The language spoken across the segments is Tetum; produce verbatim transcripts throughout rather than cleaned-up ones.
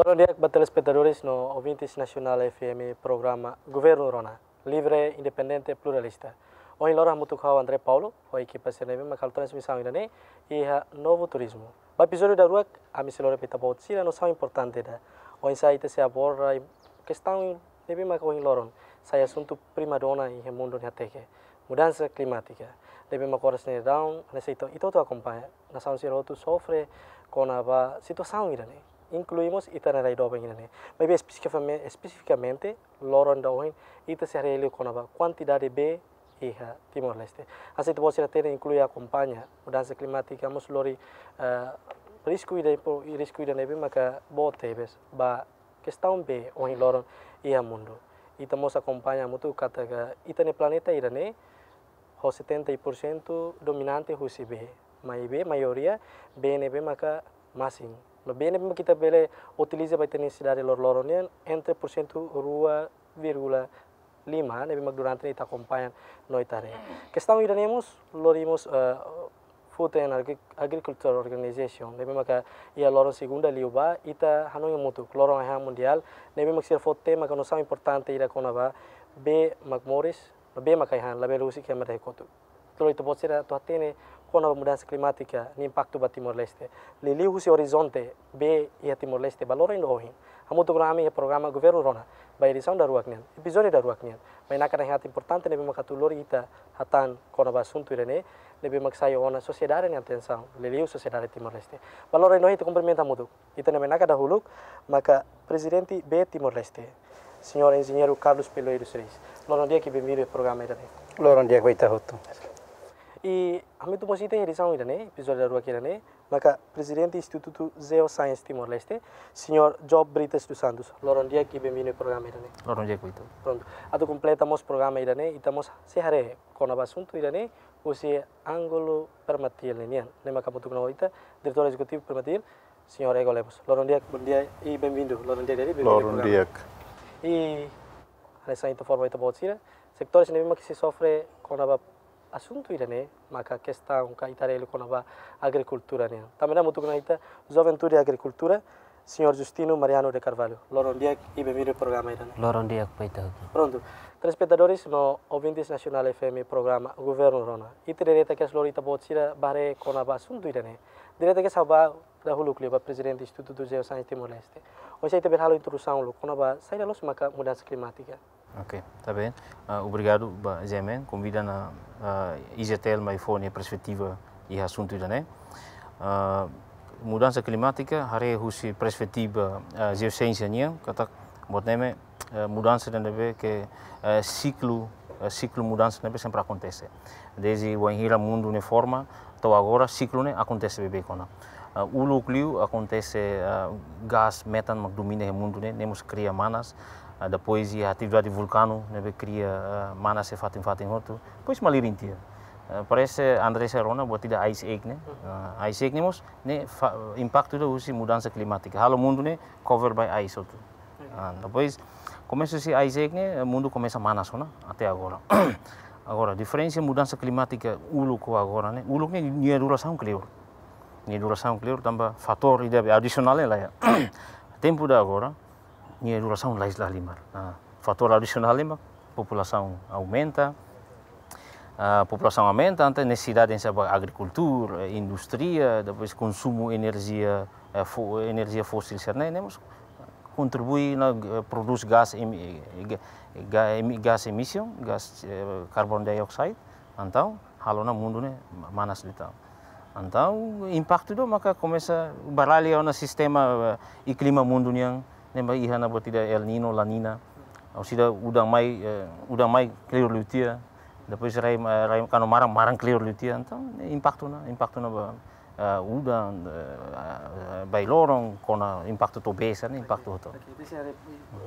Loron di'ak ba telespetadores no ouvintes Nasionál F M programa Governu Rona, livre, independente, pluralista. Ohin loron hamutuk ho ha'u André Paulo, ho ekipa sira ne'ebé mak halo transmisaun ida-ne'e iha Novo Turismo. Ba epizódiu daruak, ami sei lori ba ita-boot sira nosaun importante ida. Oinsá ita sei aborda kestaun ne'ebé mak ohin loron sai asuntu primadona iha mundu nia hateke, mudansa klimátika. Ne'ebé mak oras ne'e daudaun, hanesan ita, ita hotu akompaña, nasaun sira hotu sofre kona-ba situasaun ida-ne'e. Inklui mós ita-nia rai doben ida-ne'e. Maibé espesifikame-, espesifikamente, loron ida ohin, ita sei haree liu kona-ba kuantidade bee iha Timor-Leste. Hanesan ita-boot sira hatene, inklui akompaña mudansa klimátika, mós lori, eh, risku ida impo-, risku ida ne'ebé maka boot tebes ba kestaun bee ohin loron iha mundu. Ita mós akompaña hamutuk katak ita-nia planeta ida-ne'e ho setenta por cento dominante husi bee. Maibé maioria bee ne'ebé maka masin. No bee ne'ebé maka ita bele utiliza ba ita-nia nesesidade loroloron nian entre porsentu rua vírgula lima, ne'ebé mak durante ne'e ita akompaña no ita haree. Kestaun ida-ne'e mós, lori mós, eh, Food and Agri-, Agriculture Organization, ne'ebé maka iha loron segunda liubá, ita hanoin hamutuk, loron ai-han mundiál, ne'ebé mak sira fó tema ka nosaun importante ida kona-ba bee mak moris, no bee mak ai-han, labele husik ema ida kotuk. Tuir ita-boot sira atu hatene kona-ba mudansa klimátika nia impaktu ba Timor-Leste. Liuliu husi orizonte bee iha Timor-Leste ba loron ida ohin. Hamutuk ho ami iha programa Governu Rona, ba edisaun daruak nian, epizódiu daruak nian. Mai naran ida importante ne'ebé mak atu lori ita hatán kona-ba asuntu ida-ne'e, ne'ebé mak sai ona sosiedade nia atensaun, liuliu sosiedade Timor-Leste. Ba loron ida ohin ita kumprimenta hamutuk ita-nia mai naran dahuluk, maka Prezidente bee Timor-Leste, Señór Enjeñeiru Carlos Peloeiros Reis. Loron di'ak i benvindu iha programa ida-ne'e. Loron di'ak ba ita hotu. I ami atu mós iha edisaun ida-ne'e, epizódiu daruak ida-ne'e, maka Prezidente Institutu Geoscience Timor-Leste, Señór Job Brites dos Santos. Loron di'ak i benvindu iha programa ida-ne'e. Loron di'ak ba ita. Prontu. Atu kompleta mós programa ida-ne'e, ita mós sei haree kona-ba asuntu ida-ne'e husi ángulu Permatil nian. Ne'e maka hamutuk ho ita, Diretór Ezekutivu Permatil, Señór Ego Lemos. Loron di'ak, bondia i benvindu. Loron di'ak, Daddy, benvindu iha programa. Loron di'ak. I hanesan ita informa ita-boot sira, setores ne'ebé mak sei sofre kona-ba asuntu ida-ne'e, maka kestaun ka ita haree liu kona-ba agrikultura nian. Tanba ne'e hamutuk ho ita, Juventude Agrikultura, Señór Justino Mariano de Carvalho. Loron di'ak i benvindu iha programa ida-ne'e. Loron di'ak ba ita hotu. Prontu. Telespetadores no ouvintes Nasionál F M programa Governu Rona. Ita direta kedas lori ita-boot sira ba haree kona-ba asuntu ida-ne'e. Direta kedas ha'u ba dahuluk liu ba Prezidente Institutu Geoscience Timor-Leste. Oinsá ita bele halo introdusaun uluk kona-ba saida loos maka mudansa klimátika. Ok, está bem. Ah, obrigadu ba G M N, konvida ona, ah, I G T L mai fó nia perspetiva iha asuntu ida-ne'e. Ah, mudansa klimátika, haree husi perspetiva, ah, jeosiénsia nian, katak buat ne'e, eh, mudansa ne'ebé ke, eh, siklu, eh, siklu mudansa ne'ebé sempre akontese. Dezde wainhira mundu ne'e forma, to'o agora siklu ne'e akontese beibeik ona. Ah, uluk liu akontese, ah, gás metan mak domina iha mundu ne'e, ne'e mós kria manas. Ah, depois iha atividade vulkanu ne'ebé kria, ah, manas iha fatin-fatin hotu. Depois malirin tiha. Ah, parese André sei rona buat ida ice age ne'e. Ah, ice age ne'e mós ne'e fa-, impaktu ida husi mudansa klimátika. Halo mundu ne'e cover by ice hotu. Ah, depois komesa husi ice age ne'e, mundu komesa manas ona até agora. Agora, diferensa mudansa klimátika uluk ho agora ne'e, uluk ne'e nia durasaun kleur. Nia durasaun kleur tanba fatór ida adisionál ne'e laiha. Tempu ida agora, nia durasaun lais la halimar. Ah, fatór adisionál ne'e mak populasaun aumenta, ah, populasaun aumenta, entaun nesesidade hanesan ba agrikultura, eh, indústria, depois konsumu enerjia, eh, fo-, enerjia fósil sira-ne'e, ne'e mós kontribui ona, eh, prodús gás emi-, eh, ga-, ga-, emi-, gás emissão, gás, eh, carbon dioxide, entaun halo ona mundu ne'e ma-, manas liután. Entaun impaktu ida maka komesa baralha ona sistema, eh, i klima mundu nian, ne'ebé iha ona buat ida El Niño, La Niña, orsida udan mai, eh, udan mai kleur liu tiha, depois rai, eh, rai kuandu maran, maran kleur liu tiha, entaun impaktu ona, impaktu ona ba, eh, udan, eh, eh, ba ai-loron, kona impaktu to'o bee sira-ne'e, impaktu hotu. Oke,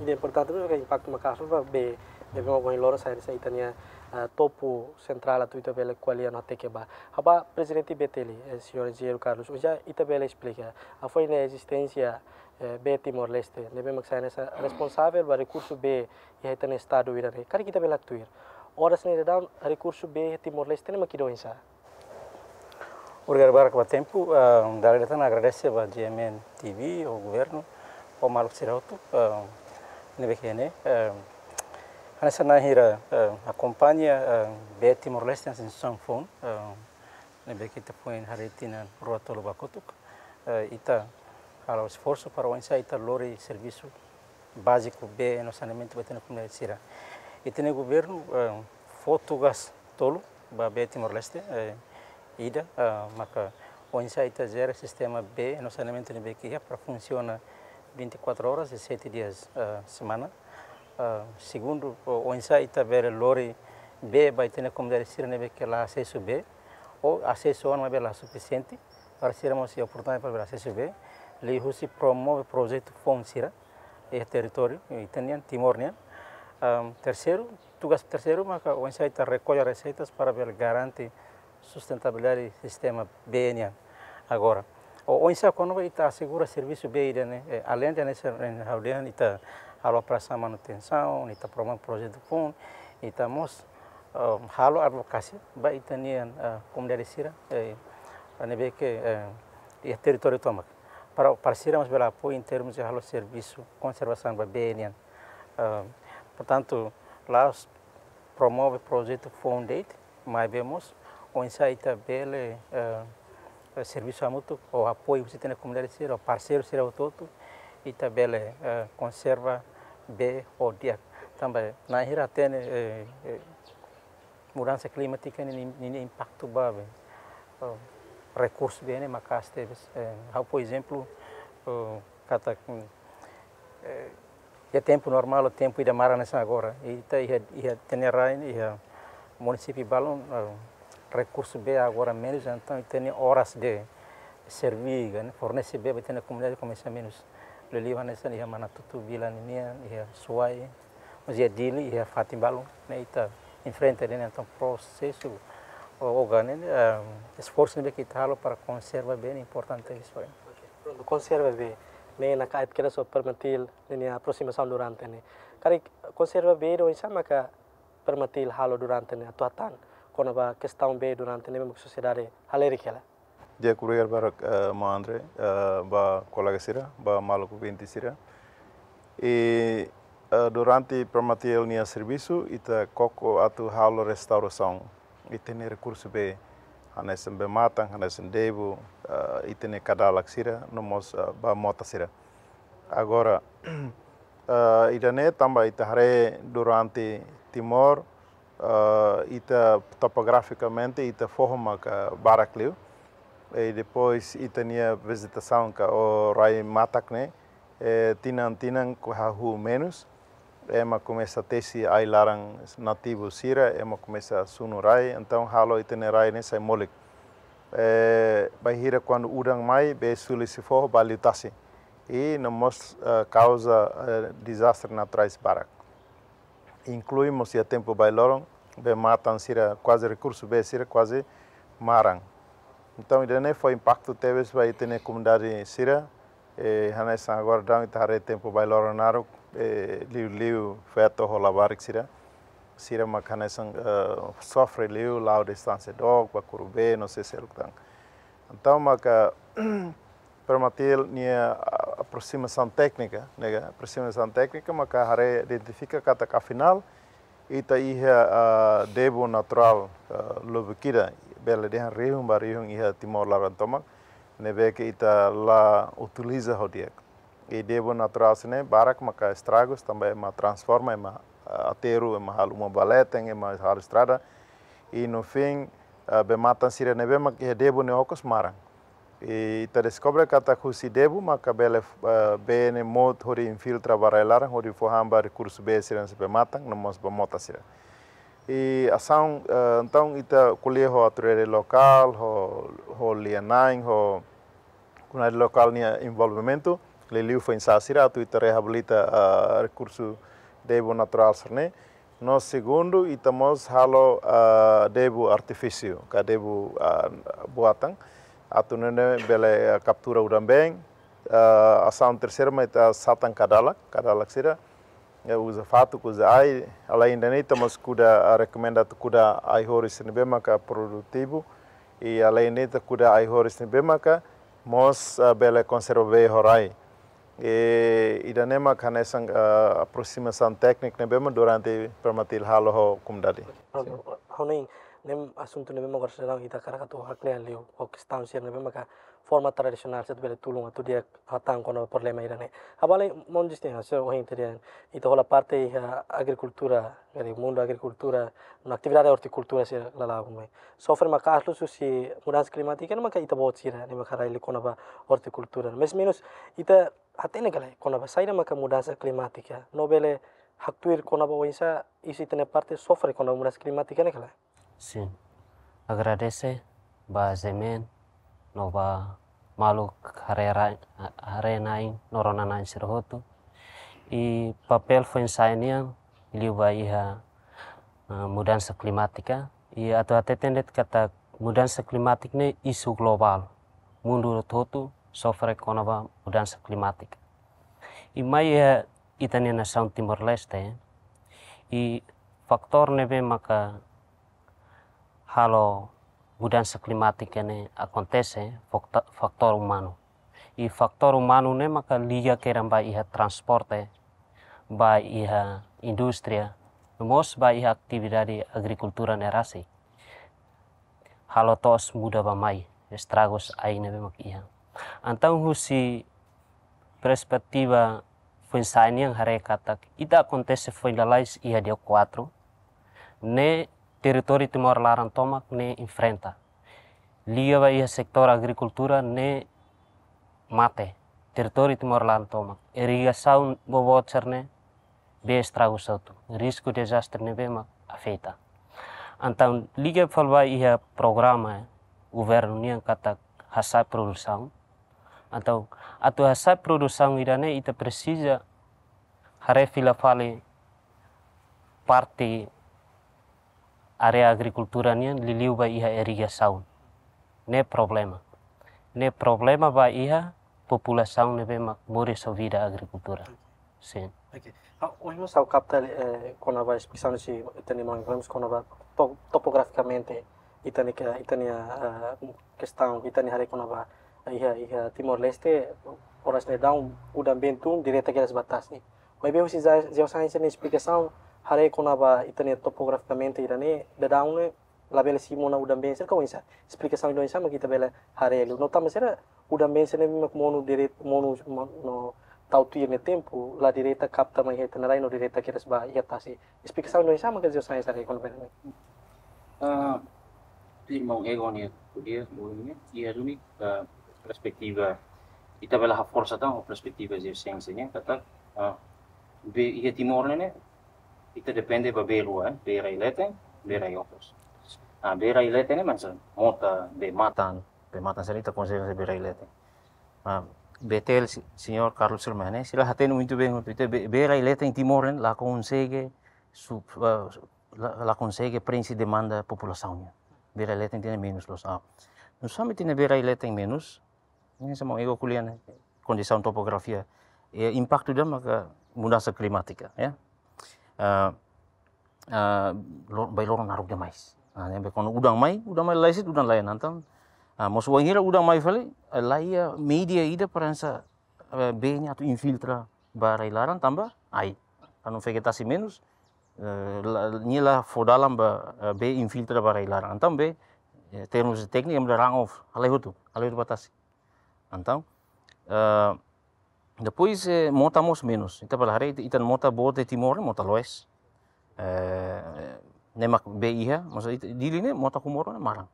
ida importante mós impaktu maka'as ba bee, ne'ebé mak ohin loron sai, sai ita-nia, eh, topu sentrál atu ita bele ko'alia no hateke ba. Ha'u ba Prezidente B T L, eh, Señór Enjeñeiru Carlos, oinsá ita bele esplika hafoin ezisténsia, eh, bee Timor-Leste, ne'ebé mak sai hanesan responsavel ba rekursu bee iha ita-nia estadu ida-ne'e. Karik ita bele tuir, oras ne'e daudaun rekursu bee iha Timor-Leste ne'e mak ida oinsá? Obrigadu barak ba tempu, ah, dala ida tan agradese ba G M N T V, ho governu, Ho maluk sira hotu, eh, ne'ebé ke ne'e, eh, hanesan na'in hira, eh, akompaña, eh, bee Timor-Leste hanesan instituisaun foun, eh, ne'ebé ke ita foin haree tinan rua tolu ba kotuk, eh, ita halo esforsu para oinsá ita lori servisu báziku bee no saneamentu ba ita-nia komunidade sira. Ita-nia governu, eh, fó tugas tolu ba bee Timor-Leste, eh, ida, eh, maka oinsá ita jere sistema bee no saneamentu ne'ebé ke iha para funsiona vinte e quatro horas e sete dias, eh, semana. Eh, segundu, o-, oinsá ita bele lori bee ba ita-nia komunidade sira ne'ebé ke la asesu bee, ou asesu ona maibé la sufisiente, para sira mós iha oportunidade para bele asesu bee, liuhusi promove projetu foun sira iha territóriu ita-nian, Timor nian. Ahm, terseiru, tugas terseiru maka oinsá ita rekolla reseitas para bele garante sustentabilidade sistema bee nian. Agora, o-, oinsá kona-ba ita asegura servisu bee ida-ne'e, eh, alende hanesan ha'u dehan, ita halo operasaun manutensaun, ita promove projetu foun, ita mós, eh, halo advokasia ba ita-nian, eh, komunidade sira, eh, ne'ebé ke, eh, iha territóriu tomak. Para, para sira mós bele apoiu em termos de halo servisu konservasaun ba bee nian. Eh, portantu, la'ós promove projetu foun de'it, maibé mós oinsá ita bele, eh, eh, servisu hamutuk ho apoiu husi ita-nia komunidade sira, parseiru sira hotu-hotu, ita bele, eh, konserva bee ho di'ak. Tanba na'in hira hatene, eh, eh, mudansa klimátika ninia, ninia impaktu ba bee, eh, rekursu bee ne'e maka'as tebes. Eh, ha'u, por ezemplu, eh, katak, mm, eh, iha tempu normál, tempu ida maran hanesan agora. Ita iha, iha ita-nia rai, iha munisípiu balun, eh, rekursu bee agora menus, entaun ita-nia oras de servir, ne'e, fornese bee ba ita-nia komunidade komesa menus. Liuliu hanesan iha Manatutu, Bila ninian, iha Suai, mas iha Dili, iha fatin balun, ne'e ita enfrenta de'it, entaun prosesu, o-, oga ne'e, eh, esforsu ne'ebé ke ita halo para konserva bee ne'e importante tebes. Prontu, konserva bee, ne'e naka'it kedas ho Permatil ninia aprosimasaun durante ne'e. Karik konserva bee ida oinsá maka Permatil halo durante ne'e atu hatán kona-ba kestaun bee durante ne'e, memang sosiedade halerik hela. Di'ak, obrigadu barak, eh, maun André, eh, ba kolega sira, ba maluk ouvinte sira. I, eh, durante Permatil nia servisu, ita koko atu halo restaurasaun ita-nia rekursu bee, hanesan bee-matan, hanesan debu, eh, ita-nia kadalak sira, no mós, eh, bee-mota sira. Agora, eh, ida-ne'e tanba ita haree durante Timor, eh, ita topografikamente ita foho maka barak liu. I depois ita-nia vejetasaun ka rai-matak ne'e, eh, tinan-tinan hahú menus. Ema komesa tesi ai-laran nativu sira, ema komesa sunu rai, entaun halo ita-nia rai ne'e sai molik. Eh, bainhira kuandu udan mai, bee suli sei foho ba liutasi. I no mós, eh, kauza, eh, dezastre naturais barak. Inklui mós iha tempu bailoron, bee-matan sira kuaze, rekursu bee sira kuaze maran. Entaun, ida-ne'e fó impaktu tebes ba ita-nia komunidade sira, eh, hanesan agora daudaun ita haree tempu bailoron naruk, eh, liuliu feto ho labarik sira. Sira mak hanesan, eh, sofre liu, la'o distánsia dook, ba kuru bee, no sei seluk tan. Entaun, maka, Permatil nia, ah, aprosimasaun téknika, ne'e ka, aprosimasaun téknika maka haree, identifika katak afinál ita iha, ah, debu naturál, ah, lubuk ida, bele dehan rihun ba rihun iha Timor laran tomak, ne'ebé ke ita la utiliza ho di'ak. I debu naturál sira-ne'e barak maka estragus, tanba ema transforma, ema, ah, aterru, ema halo uma ba leten, ema halo estrada. I no fim, ah, bee-matan sira ne'ebé mak iha debu ne'e okos maran. I ita deskobre katak husi debu maka bele, eh, bee ne'e mout hodi infiltra ba rai-laran, hodi fó han ba rekursu bee sira hanesan bee-matan, no mós bee-mota sira. I asaun, eh, entaun ita ko'alia ho autoridade lokál, ho, ho lia-na'in, ho komunidade lokál nia envolvimentu, liuliu foin-sa'e sira atu ita reabilita, eh, rekursu debu naturál sira-ne'e. No segundu, ita mós halo, ah, debu artifísiu, ka debu, ah, buatan. Atu nune'e bele, ah, kaptura udan-been. Ah, asaun terseiru mak ita satan kadalak, kadalak sira. Ya, uza fatuk, uza ai. Alende ne'e ita mós kuda, ah, rekomenda atu kuda ai-horis ne'ebé maka produtivu. I alende ne'e ita kuda ai-horis ne'ebé maka mós, ah, bele konserva bee ho rai. E ida-ne'e mak hanesan, eh, aproximação técnica ne'ebé mak durante Permatil halo ho komunidade. Pronto, ha'u hanoin, ne'e asuntu ne'ebé mak agora sedang ita hakarak atu haklean liu, ho kestaun sira ne'ebé maka forma tradisionál sira bele tulun atu di'ak hatán kona-ba problema ida-ne'e. Ha'u bele menjustifika, se ohin ita dehan, ita hola parte iha agrikultura, iha mundu agrikultura, no atividade ortikultura sira lala'ok mai. Sofre maka'as liu husi mudansa klimátika, ne'e maka ita-boot sira, ne'e maka rai liu kona-ba ortikultura. Mais menus, ita hatene ka lae, kona-ba saida maka mudansa klimátika. No bele haktuir kona-ba oinsá, husi ita-nia parte sofre kona-ba mudansa klimátika ne'e ka lae. Sin. Agradese ba Zemen, no ba maluk haree ra-, haree-na'in, no rona-na'in sira hotu. I papél foin-sa'e nian, liu ba iha, eh, mudansa klimátika. I atu hateten de'it katak mudansa klimátika ne'e isu globál. Mundu hotu-hotu sofre kona-ba mudansa klimátika. I mai iha ita-nia nasaun Timor-Leste, i faktór ne'ebé maka halo mudansa klimátika ne'e akontese, fakta-, faktór umanu. I faktór umanu ne'e maka liga kedas ba iha transporte, ba iha indústria, no mós ba iha atividade agrikultura ne'e rasik. Halo to'os muda ba mai, estragus ai ne'ebé mak iha. Entaun husi perspetiva foin-sa'e nian haree katak ita akontese foin lalais iha dia kuatru, ne'e territóriu Timor laran tomak ne'e enfrenta. Liga ba iha setór agrikultura ne'e mate. Territóriu Timor laran tomak. Irrigasaun boboot sira-ne'e bee estragus hotu. Risku dezastre ne'ebé mak afeta. Entaun liga fali ba iha programa governu nian katak hasa'e produsaun. Entaun atu hasa'e produsaun ida-ne'e ita presiza haree fila fali parte área agrikultura nian liuliu ba iha irrigasaun. Ne'e problema. Ne'e problema ba iha populasaun ne'ebé mak moris ho vida agrikultura. Sin. Oke. Ah, ohin mós ha'u kapta, eh, kona-ba esplikasaun husi ita-nia maun Ibrahim kona-ba to-, topografikamente ita-nia ke-, ita-nia, eh, kestaun, ita-nia haree kona-ba, eh, iha, iha Timor-Leste, oras ne'e daudaun udan-been tun direta kedas ba tasi. Maibé husi ze-, jeosainsa nia esplikasaun, haree kona-ba ita-nia topografikamente ida-ne'e, daudaun ne'e labele simu ona udan-been sira ka oinsá. Esplikasaun ida oinsá mak ita bele haree liu. No tanba sira udan-been sira ne'e mak monu direta, monu, mo-, no tau tuir nia tempu, la direta kapta mai iha ita-nia rai no direta kedas ba iha tasi. Esplikasaun ida oinsá mak jeosainsa haree kona-ba ne'e. Ah, irmaun Ego nia ko'alia, ko'alia, iha duni, ah, perspetiva, ita bele haforsa tan ho perspetiva jeosainsa nian, katak, ah, bee, iha Timor ne'e, ita depende ba bee rua, eh, bee rai-leten, bee rai-okos. Ah, bee rai-leten ne'e hanesan mota, bee matan, bee matan sira ita konsidera bee rai-leten. Ah, Betel, si-, señór Carlos sira mai ne'e, sira hatene muito bem, ita bee, bee rai-leten Timor ne'e, la konsege, su-, ah, la, la konsege prenxe demanda populasaun nian. Bee rai-leten tiha ne'e menus loos. Ah, nusá mak tiha ne'e bee rai-leten menus, ne'e hanesan maun Ego ko'alia ne'e, kondisaun topografia. E impaktu ida maka mudansa klimátika, ya. Ah, ah, lo-, bee loron naruk demais. Ah, ne'ebé kuandu udan mai, udan mai lalais, udan laiha entaun. Ah, mós wainhira udan mai fali, eh, la iha média ida para hanesan, eh, bee ne'e atu infiltra ba rai-laran tanba ai. Kuandu vejetasi menus, eh, la, nia la fó dalan ba, eh, bee infiltra ba rai-laran. Entaun bee, eh, termus tékniku ema dehan runoff, halai hotu, halai hotu ba tasi. Entaun, eh, depois, eh, mota mós menus. Ita bele haree, ita, ita mota boot iha Timor ne'e mota loes. Eh, ne'e mak bee iha, maksud ita, Dili ne'e mota Comoro ne'e maran.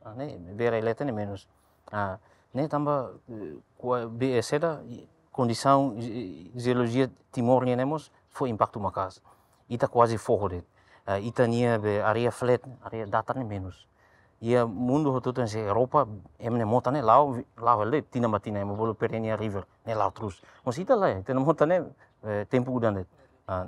Ah, ne'e bee rai-leten ne'e menus. Ah, ne'e tanba, eh, kua-, bee, eh, saida, i, kondisaun, i, i, jeolojia Timor nian ne'e mós fó impaktu maka'as. Ita kuaze foho de'it. Ah, ita-nia bee área flat, área datar ne'e menus. Iha mundu hotu-hotu hanesan Europa, ema nia mota ne'e la'o, la'o hela de'it, tinan ba tinan, ema bolu perennial river, ne'e la'o terus. Mas ita lae, ita-nia mota ne'e, eh, tempu udan de'it. Ah,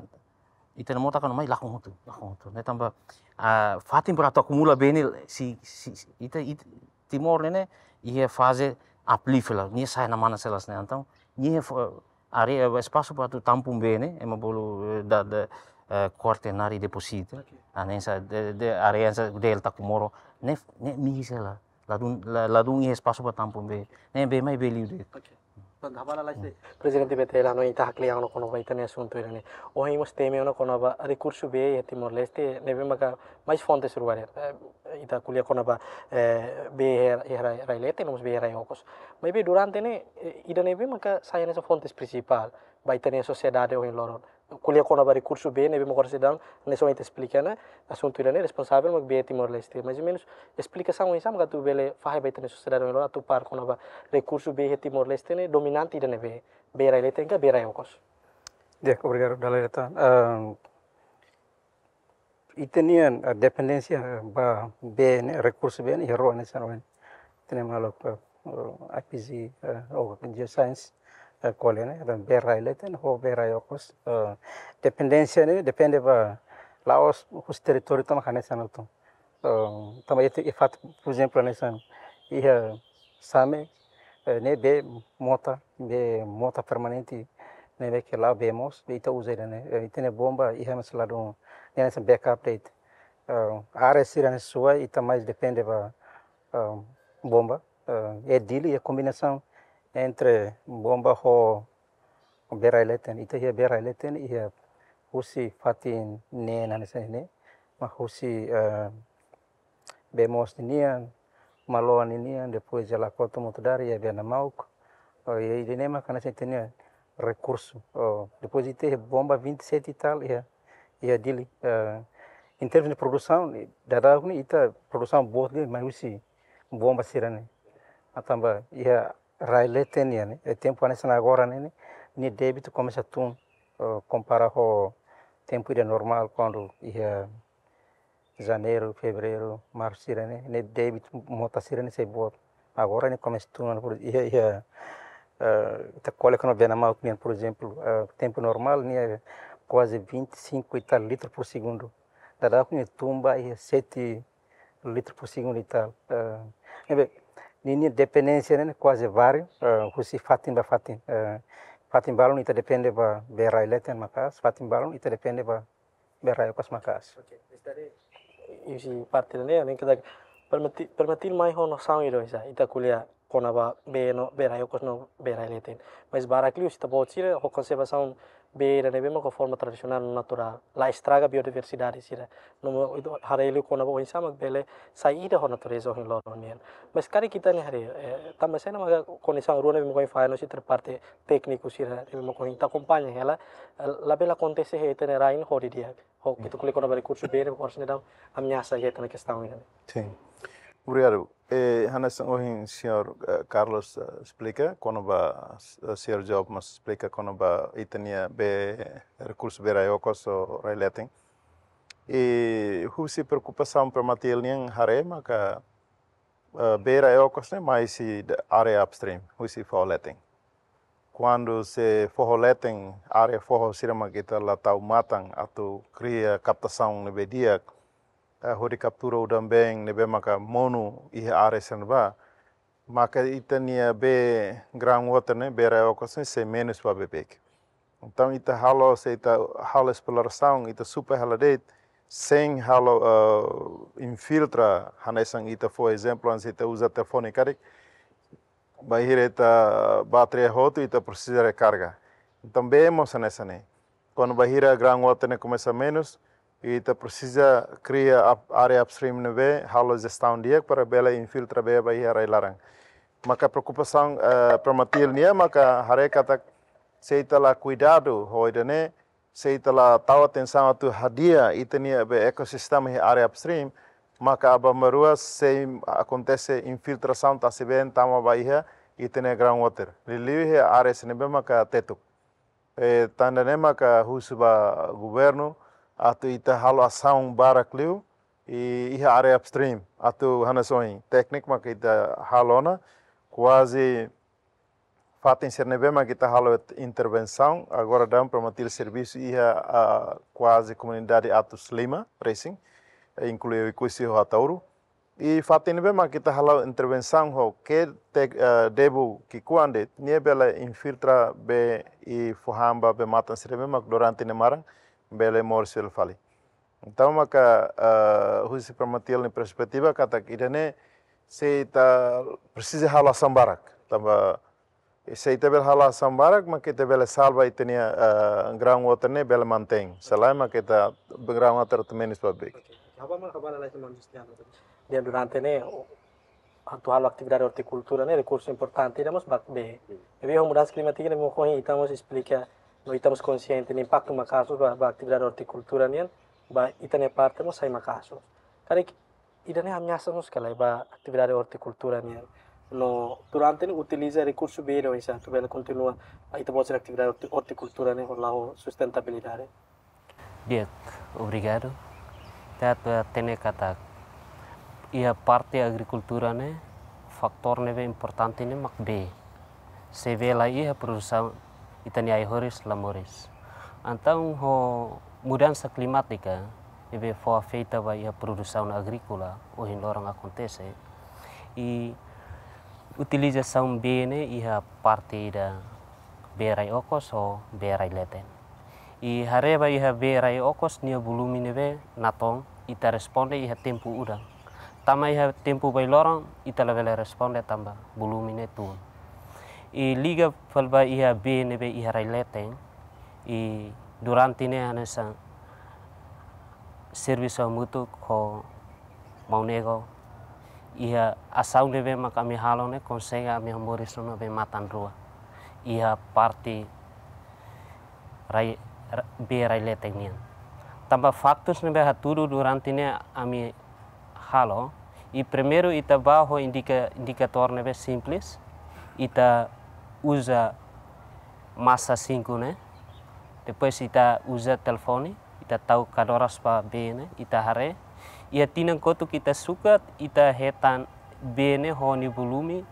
ita-nia mota kuandu mai lakon hotu, lakon hotu. Ne'e tanba, ah, fatin para atu akumula bee ne'e, si, si, si, ita, ita, Timor ne'e, ne'e, iha faze uplift hela, nia sa'e namana selas ne'e. Entaun, nia fo-, área, espasu para atu tampung bee ne'e, ema bolu, eh, da, da, eh, quaternary deposit. Oke. Ah, ne'e hanesan, de, de, área hanesan delta Comoro, ne'e, ne'e mihis hela, ladún, la, ladún iha espasu para tampung bee. Ne'e bee mai bee liu de'it. Oke. Bang, hapala lai se. Prezidente B T L, no ita haklian no kona-ba ita-nia asuntu ida-ne'e. Ohin mós temi ona kona-ba rekursu bee iha Timor-Leste, ne'ebé maka mais fontes rua de'it. Eh, ita ko'alia kona-ba, eh, bee iha, iha rai, rai leten, no mós bee iha rai okos. Maibé durante ne'e, eh, ida ne'ebé maka sai hanesan fontes prinsipál ba ita-nia sosiedade ohin loron. Ko'alia kona-ba rekursu bee ne'ebé mak oras ida-ne'e, hanesan ita esplika ona, asuntu ida-ne'e responsavel mak bee Timor-Leste. Mais ou menus esplikasaun oinsá mak atu bele fahe ba ita-nia sosiedade ohin loron atu para kona-ba rekursu bee iha Timor-Leste ne'e dominante ida ne'ebé, bee rai leten ka bee rai okos. Di'ak, obrigadu, Daleta. Ah, ita-nia, ah, dependénsia, ah, ba bee ne'e, rekursu bee ne'e, iha rua hanesan ohin ita-nia maluk, ah, ah, I P G, ah, ou Geoscience, ah, ko'alia ne'e, entaun bee rai leten ho bee rai okos. Ah, dependénsia ne'e depende ba la'ós husi territóriu tan mak hanesan hotu. Ah, tanba ita, iha fatin, por ezemplu, hanesan iha Same, eh, ne'e bee mota, bee mota permanente, ne'ebé ke la'o bee moos, ita uza ida-ne'e, eh, ita-nia bomba iha mós ladún, ne'e hanesan backup de'it. Eh, área sira-ne'e suai, ita mais depende ba, eh, bomba, eh, iha Dili, iha kombinasaun entre bomba ho bee rai leten, ita iha bee rai leten, iha husi fatin neen hanesan ne'e, mak husi, eh, bee moos ninian, Maloa ninian, depois iha Lakoto, Mutudari, iha Bee Namauk. Oh, iha ida-ne'e mak hanesan ita-nia rekursu. Oh, depois ita iha bomba vinte e sete e tal, iha, iha Dili. Eh, em termos de produsaun, daudaun ne'e ita produsaun boot de'it mai husi bomba sira-ne'e. Ah, tanba iha rai leten nian ne'e, eh, tempu hanesan agora ne'e, ne'e, nia débitu komesa tun, eh, kompara ho tempu ida normál, kuandu iha Janeiru, Fevereiru, Marsu sira-ne'e, ne'e débitu mota sira-ne'e sei boot. Agora ne'e komesa tun, por, iha, iha, eh, ita ko'alia kona-ba Bee Namauk nian, por ezemplu, eh, tempu normál ne'e kuaze vinte e cinco e tal litro por segundo. Daudaun ne'e tun ba iha sete litro por segundo e tal. Eh, ne'ebé, ninia dependénsia ne'e kuaze váriu, eh, husi fatin ba fatin. Eh, fatin balun ita depende ba bee rai leten maka'as, fatin balun ita depende ba bee rai okos maka'as. Oke, husi parte ne'e, ne'e ita permiti, permitir mai ho nosaun ida oinsá, ita ko'alia kona-ba bee no, bee rai okos no bee rai leten. Mais barak liu ita-boot sira ho konservasaun bee ida ne'ebé mak ho forma tradisionál no naturál. La estraga biodiversidade sira. No mós ita haree liu kona-ba oinsá mak bele sai ida ho natureza ohin loron nian. Mais karik ita-nia haree, eh, tanba saida mak kondisaun rua ne'ebé mak ohin fai no sira parte tékniku sira ne'ebé mak ohin ita akompaña hela, eh, labele akontese iha ita-nia rain ho di'ak. Ho, ita ko'alia kona-ba rekursu bee, oras ne'e daudaun ameasa iha ita-nia kestaun ida-ne'e. Sin. Obrigadu. Eh, hanesan ohin señór, eh, Carlos, eh, esplika kona-ba, eh, señór Job mós esplika kona-ba ita-nia bee, rekursu bee rai okos ou rai leten. I husi preokupasaun Permatil nian haree maka, eh, bee rai okos ne'e mai husi área upstream, husi foho leten. Kuandu se foho leten, área foho sira mak ita la tau matan atu kria kaptasaun ne'ebé di'ak, eh, hodi kaptura udan-been ne'ebé maka monu iha área sira-ne'ebá, maka ita-nia bee groundwater ne'e, bee rai okos ne'e sei menus ba beibeik. Entaun ita halo, se ita halo esplorasaun, ita supa hela de'it, sein halo, eh, infiltra, hanesan ita fó ezemplu, hanesan ita uza telefone karik, bainhira ita bateria hotu, ita presiza rekarga. Entaun bee mós hanesan ne'e. Kuandu bainhira groundwater ne'e komesa menus, ita presiza kria up-, área upstream ne'ebé halo jestaun di'ak para bele infiltra bee ba iha rai-laran. Maka preokupasaun, eh, Permatil nian maka haree katak se ita la kuidadu ho ida-ne'e, se ita la tau atensaun atu hadi'a ita-nia bee ekosistema iha área upstream, maka aban-bainrua sei akontese infiltrasaun tasi-been tama ba iha ita-nia groundwater. Liuliu iha área sira ne'ebé maka tetuk. Eh, tanba ne'e maka husu ba governu atu ita halo asaun barak liu, i iha área upstream, atu hanesan ohin tékniku maka ita halo ona, kuaze fatin sira ne'ebé maka ita halo intervensaun, agora daudaun Permatil servisu iha, ah, kuaze komunidade atus lima resin, eh, inklui Oekusi ho Ataúru. I fatin ne'ebé maka ita halo intervensaun ho ke te, eh, debu ki'ikoan de'it, nia bele infiltra bee i fó han ba bee-matan sira ne'ebé maka durante ne'e maran bele moris fila fali. Entaun maka, eh, husi Permatil nia perspetiva katak ida-ne'e sei ita presiza halo asaun barak. Tanba I se ita bele halo asaun barak, mak ita bele salva ita-nia, eh, groundwater ne'e bele mantein. Se lae, mak ita groundwater atu menus ba beik. Oke, oke. Ha'u ba, ha'u ba lalais maun Justiano. Durante ne'e, atu halo atividade ortikultura ne'e, rekursu importante ida mós ba bee. Ne'ebé ho mudansa klimátika ne'e, mós ohin ita mós esplika, no ita mós konsiente, ne'e impaktu maka'as ba, ba atividade ortikultura nian, ba ita-nia parte mós sai maka'as. Karik ida-ne'e ameasa mós ka lae ba atividade ortikultura nian. No durante ne'e utiliza rekursu bee ida oinsá atu bele kontinua ita-boot sira-nia atividade orti-, ortikultura ne'e ho la'o sustentabilidade. Di'ak, obrigadu. Ita atu hatene katak iha parte agrikultura ne'e, faktór ne'ebé importante ne'e mak bee. Se bee la iha, produsaun ita-nia ai-horis la moris. Entaun ho mudansa klimátika ne'ebé fó afeta ba iha produsaun agríkola ohin loron akontese, i utilizasaun bee ne'e iha parte ida bee rai okos ho bee rai leten. I haree ba iha bee rai okos nia volume ne'ebé natoon, ita responde iha tempu udan. Tanba iha tempu bailoron ita labele responde tanba volume ne'e tun. I liga fali ba iha bee ne'ebé iha rai leten, i durante ne'e hanesan servisu hamutuk ho maun Ego, iha asaun ne'ebé mak ami halo ne'e konsege ami hamoris ona be matan rua iha parte rai, ra-, bee rai leten nian. Tanba faktus ne'ebé hatudu durante ne'e ami halo, i primeiru ita bá ho indika-, indikatór ne'ebé simples, ita uza masa sinku ne'e, depois ita uza telefone, ita tau kadoras ba bee ne'e, ita haree, iha tinan kotuk ita sukat, ita hetan bee ne'e ho nia volume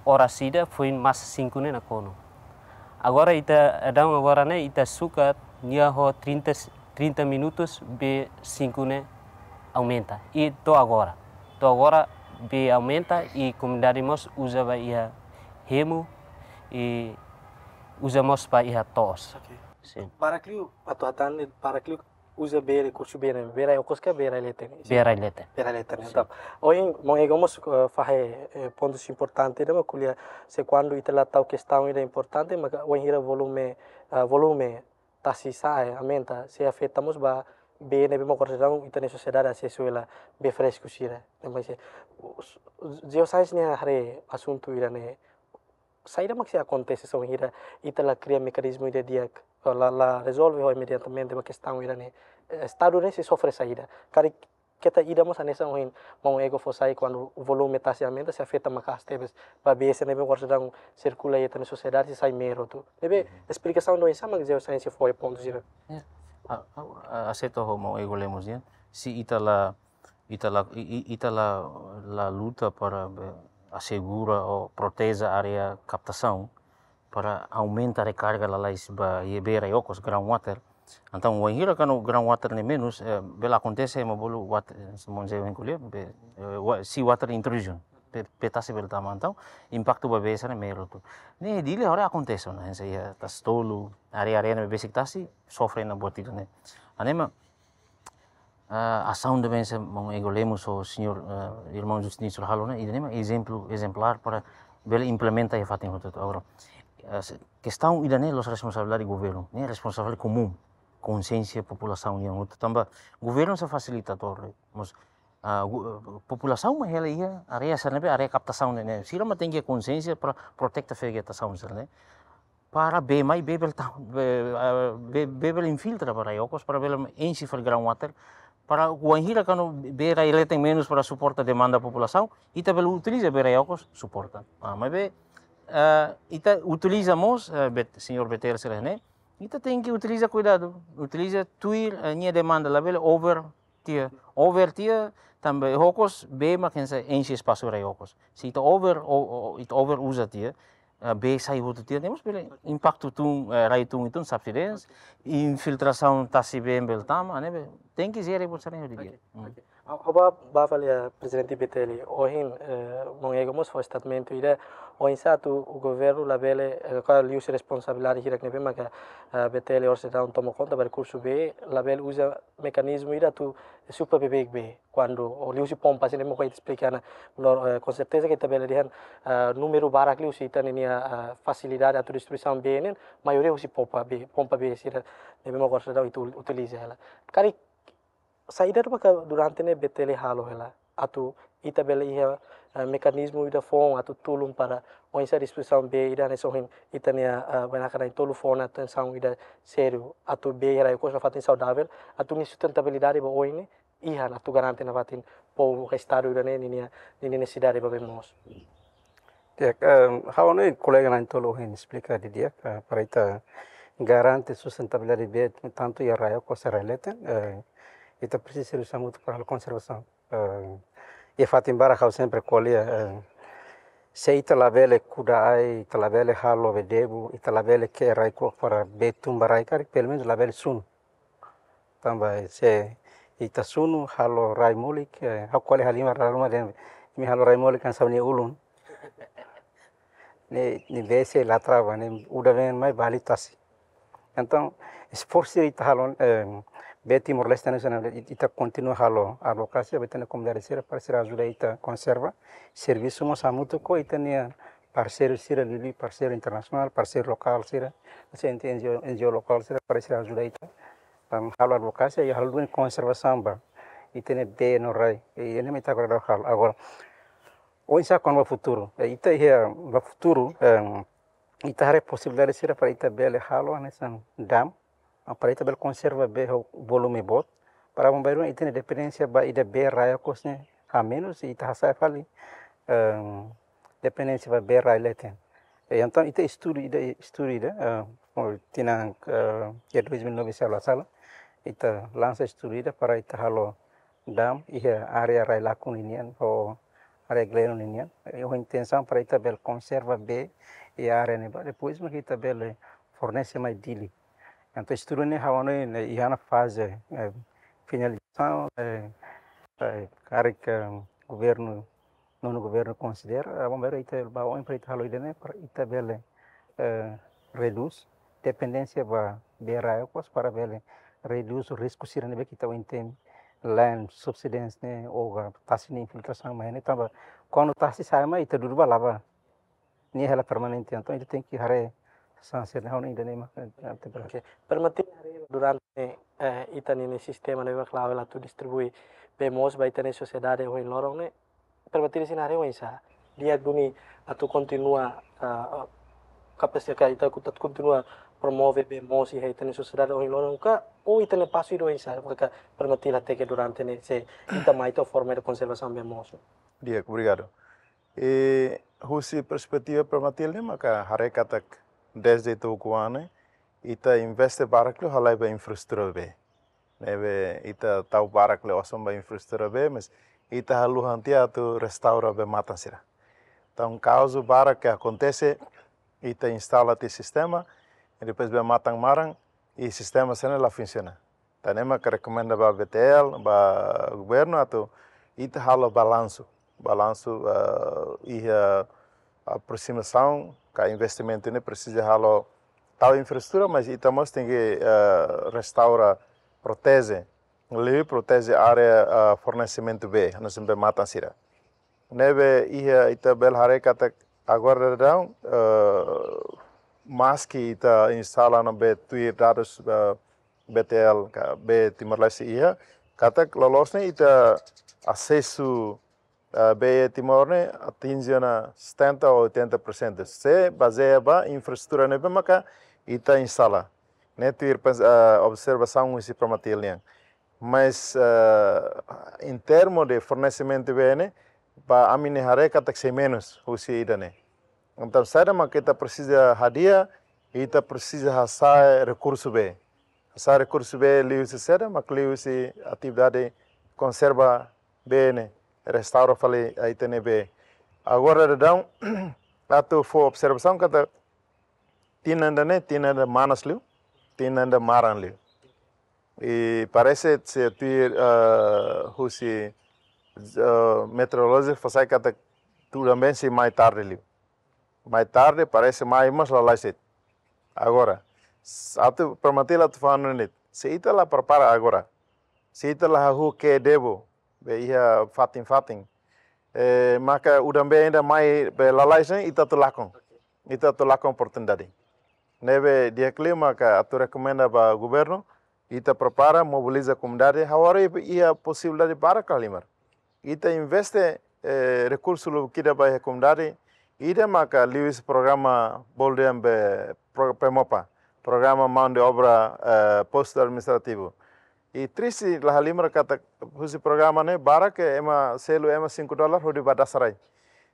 oras ida foin masa sinku ne'e nakonu. Agora ita, daudaun agora ne'e ita sukat nia ho trinta, trinta minutus bee sinku ne'e aumenta. I to'o agora. To'o agora bee aumenta i komunidade mós uza ba iha hemu i uza mós ba iha to'os. Oke. Sin. Barak liu, atu hatán ne'e barak liu uza bee, rekursu bee ne'e, bee rai okos ka bee rai leten? Bee rai leten. Bee rai leten, sin. Entaun, ohin maun Ego mós, eh, fahe, eh, pontus importante ida mak ko'alia, se kuandu ita la tau kestaun ida importante, maka wainhira volume, ah, volume tasi sa'e, eh, aumenta, sei afeta mós ba bee ne'ebé mak oras daudaun ita-nia sosiedade asesu hela, bee fresku sira. Ne'e mak sei, GeoScience nia haree asuntu ida-ne'e, saida mak sei akontese se wainhira ita la kria mekanizmu ida di'ak, la, la rezolve ho imediatamente ba kestaun ida-ne'e? Eh, Estadu ne'e sei sofre saida? Karik keta ida mós hanesan ohin maun Ego fó sai, kuandu volume tasi aumenta sei afeta maka'as tebes ba bee sira ne'ebé oras daudaun sirkula iha ita-nia sosiedade, sei sai mero tu. Ne'ebé, mhm, esplikasaun ida oinsá mak GeoScience fó iha pontu sira? Ya. A, a, a, aseita ho maun Ego Lemos nian. Se ita la, ita la, i, i, ita la, la luta para, eh, asegura ou proteje área kaptasaun, para aumenta rekarga lalais ba iha bee rai okos, groundwater. Entaun, wainhira kuandu groundwater ne'e menus, eh, bele akontese ema bolu wat-, eh, se maun Zé ko'alia, be, eh, wa-, seawater intrusion. Bee, bee tasi bele tama, entaun impaktu ba bee sira ne'e mero tu. Ne'e Dili agora akontese ona, hanesan iha Tasi Tolu, área-área ne'ebé besik tasi, sofre ona buat ida-ne'e. Hanesan, ah, asaun ida hanesan maun Ego Lemos ho señór, ah, irmaun Justino halo ne'e, ida-ne'e mak ezemplu, ezemplár para bele implementa iha fatin hotu-hotu. Agora, ah, se-, kestaun ida-ne'e la'ós responsabilidade governu, ne'e responsabilidade komún, konsiénsia populasaun nian hotu. Tanba governu sai fasilitadór, mas, ah, gu-, populasaun mak hela iha área sira ne'ebé área kaptasaun ne'e, ne'e. Sira mak tenke konsiénsia para proteta vegetasaun sira ne'e. Para bee mai, bee bele ta-, bee, ah, bee, bee bele infiltra ba rai okos, para bele enxe fali groundwater, para wainhira kuandu bee rai leten menus para suporta demanda populasaun, ita bele utiliza bee rai okos, suporta. Ah, maibé, ah, ita utiliza mós, eh, Bet-, señór Betel sira ne'e, ita tenke utiliza kuidadu, utiliza tuir, eh, nia demanda, labele over tiha, over tiha, tanba okos bee mak hanesan enxe espasu rai okos. Se ita over, o, o, ita over uza tiha, eh, bee sai hotu tiha, ne'e mós bele impaktu tun, eh, rai tun, tun subsidence, infiltrasaun tasi bee bele tama, ne'ebé Tenke jere bolsa ne'e hodi dia. Oke, oke. Ha'u, ha'u ba, ba fali iha prezidente B T L. Ohin, eh, maun Ego mós fó statement ida, oinsá atu governu labele, eh, ka liuhusi responsabilidade hirak ne'ebé maka, eh, B T L orsida toma konta ba rekursu bee, labele uza mekanizmu ida atu supra beibeik bee. Kuandu, o liuhusi pompa sira ne'ebé mak esplika ona, no, eh, konserteza ke ita bele dehan, eh, númeru barak liu husi ita-nia, eh, fasilidade atu distribuisaun bee ne'e, maioria husi pompa bee, pompa bee sira ne'ebé mak orsida ita utiliza hela. Karik saida maka durante ne'e B T L halo hela atu ita bele iha, eh, mekanizmu ida foun atu tulun para oinsá distribuisaun bee ida ne'e sohin ita-nia, eh, bainaka na'in-tolu fó ona atensaun ida sériu atu bee rai-okos nafatin saudavel atu nia sustentabilidade ba oin ne'e iha atu garante nafatin povu ka estadu ida ne'e ninia, ninia nesesidade ba bee moos. Ya, em, ha'u hanoin kolega na'in-tolu ohin esplika didi'ak, eh, para ita garante sustentabilidade bee tantu iha rai-okos ka rai-leten, eh, ita presiza servisu hamutuk para halo konservasaun. Eh, iha fatin barak ha'u sempre ko'alia, eh, se ita labele kuda ai, ita labele halo bee debun, ita labele ke'e rai-kuak para bee tun ba rai karik, pelumenus labele sunu. Tanba se ita sunu halo rai molik, eh, ha'u ko'alia halimar dala ruma dehan, imi halo rai molik hanesan nia ulun. Ne'e, ne'e bee sei la trava, ne'e udan been mai bali tasi. Entaun, esforsu ita halo, eh, bee Timor-Leste ne'e, ita kontinua halo advokasia ba ita-nia komunidade sira, para sira ajuda ita konserva, servisu mós hamutuk ho ita-nia parseiru sira, liuliu parseiru internasionál, parseiru lokál sira, hanesan N G O, N G O lokál sira, para sira ajuda ita, em, halo advokasia, i halo duni konservasaun ba ita-nia bee no rai, i ne'e mak ita agora daudaun halo. Agora, oinsá kona-ba futuru, eh, ita iha ba futuru, em, ita haree posibilidade sira para ita bele halo hanesan dam, ah, para ita bele konserva bee ho volume boot, para aban-bainrua ita-nia dependénsia ba ida bee rai-okos ne'e hamenus, i ita hasa'e fali, em, dependénsia ba bee rai-leten. E, entaun, ita estudu ida, estudu ida, eh, tinan, eh, iha dois mil e nove se la sala, ita lansa estudu ida para ita halo dam iha área rai-lakon ninian ho área Gleno ninian. I ho intensaun para ita bele konserva bee iha área ne'ebá, depois mak ita bele fornese mai Dili. Entaun estudu ne'e ha'u hanoin ne'e iha ona faze, eh, finalizasaun, eh, eh, karik, eh, governu, nonu governu konsidera, aban-bainrua ita ba oin para ita halo ida ne'e, para ita bele, eh, redús dependénsia ba bee rai-okos para bele redús risku sira ne'ebé ke ita ohin temi, line subsidence ne'e, ou ka tasi nia infiltrasaun mai ne'e, tanba kuandu tasi sa'e mai ita dudu ba la'o ba, nia hela permanente, entaun ita tenke haree saida sira ne'e, ha'u hanoin ida ne'e mak, eh, ante bela. Oke, permati haree durante, eh, ita-nia sistema ne'ebé mak la'o hela atu distribui bee moos ba ita-nia sosiedade ohin loron ne'e, permati sira haree oinsá, di'ak duni atu kontinua, ah, ah, kapasita ka ita atu kontinua promove bee moos iha ita-nia sosiedade ohin loron ka, ou ita-nia pasu ida oinsá, maka permati hateke durante ne'e se ita mai to'o forma de konservasaun bee moos. Di'ak, obrigadu. I husi perspetiva Permatil ne'e maka haree katak dezde ita ukun an ne'e, ita investe barak liu halai ba infraestrutura bee. Ne'ebé ita tau barak liu osan ba infraestrutura bee, mas ita haluha tiha atu restaura bee-matan sira. Entaun, kazu barak ke akontese, ita instala tiha sistema, i depois bee-matan maran, i sistema sira-ne'e la funsiona. Entaun ne'e mak rekomenda ba B T L, ba governu atu ita halo balansu. Balansu, eh, iha aproximasaun ka investimentu ne'e presiza halo tau infraestrutura, mas ita mós tenke, eh, restaura, proteje, liuliu proteje área, eh, fornesimentu bee, hanesan bee-matan sira. Ne'ebé iha ita bele haree katak agora daudaun, eh, maski ita instala ona bee tuir dadus, eh, B T L ka bee Timor-Leste iha, katak loloos ne'e ita asesu, eh, bee Timor ne'e atinje ona setenta ou oitenta por cento. Se bazeia ba infraestrutura ne'ebé maka ita instala. Ne'e tuir pens-, eh, observasaun husi Permatil nian. Mas, eh, em termo de fornesimentu bee ne'e, ba ami-nia haree katak sei menus husi ida-ne'e. Entaun, saida mak ita presiza hadi'a, ita presiza hasa'e rekursu bee. Hasa'e rekursu bee liuhusi saida, mak liuhusi atividade konserva bee ne'e, restaura fali ita-nia bee. Agora daudaun, atu fó observasaun katak tinan ida-ne'e, tinan ida manas liu, tinan ida maran liu. I parese se tuir, eh, husi, eh, meteorolojia fó sai katak udan-been sei mai tarde liu. Mai tarde, parese mai mós lalais de'it. Agora, s-, atu Permatil atu fanu ne'e, se ita la prepara agora, se ita la hahú ke'e debun, be iha fatin-fatin, eh, maka udan-been ida mai be lalais ne'e, ita atu lakon. Ita atu lakon oportunidade. Ne'ebé di'ak liu maka atu rekomenda ba governu, ita prepara, mobiliza komunidade, ha'u haree iha posibilidade barak halimar. Ita investe, eh, rekursu lubuk ida ba iha komunidade, ida maka liuhusi programa bolu dehan be pro-, PMOPA, programa mão de obra, eh, postu administrativu. I triste la halimar katak husi programa ne'e barak ke ema selu ema cinco dólar hodi ba Dasarai.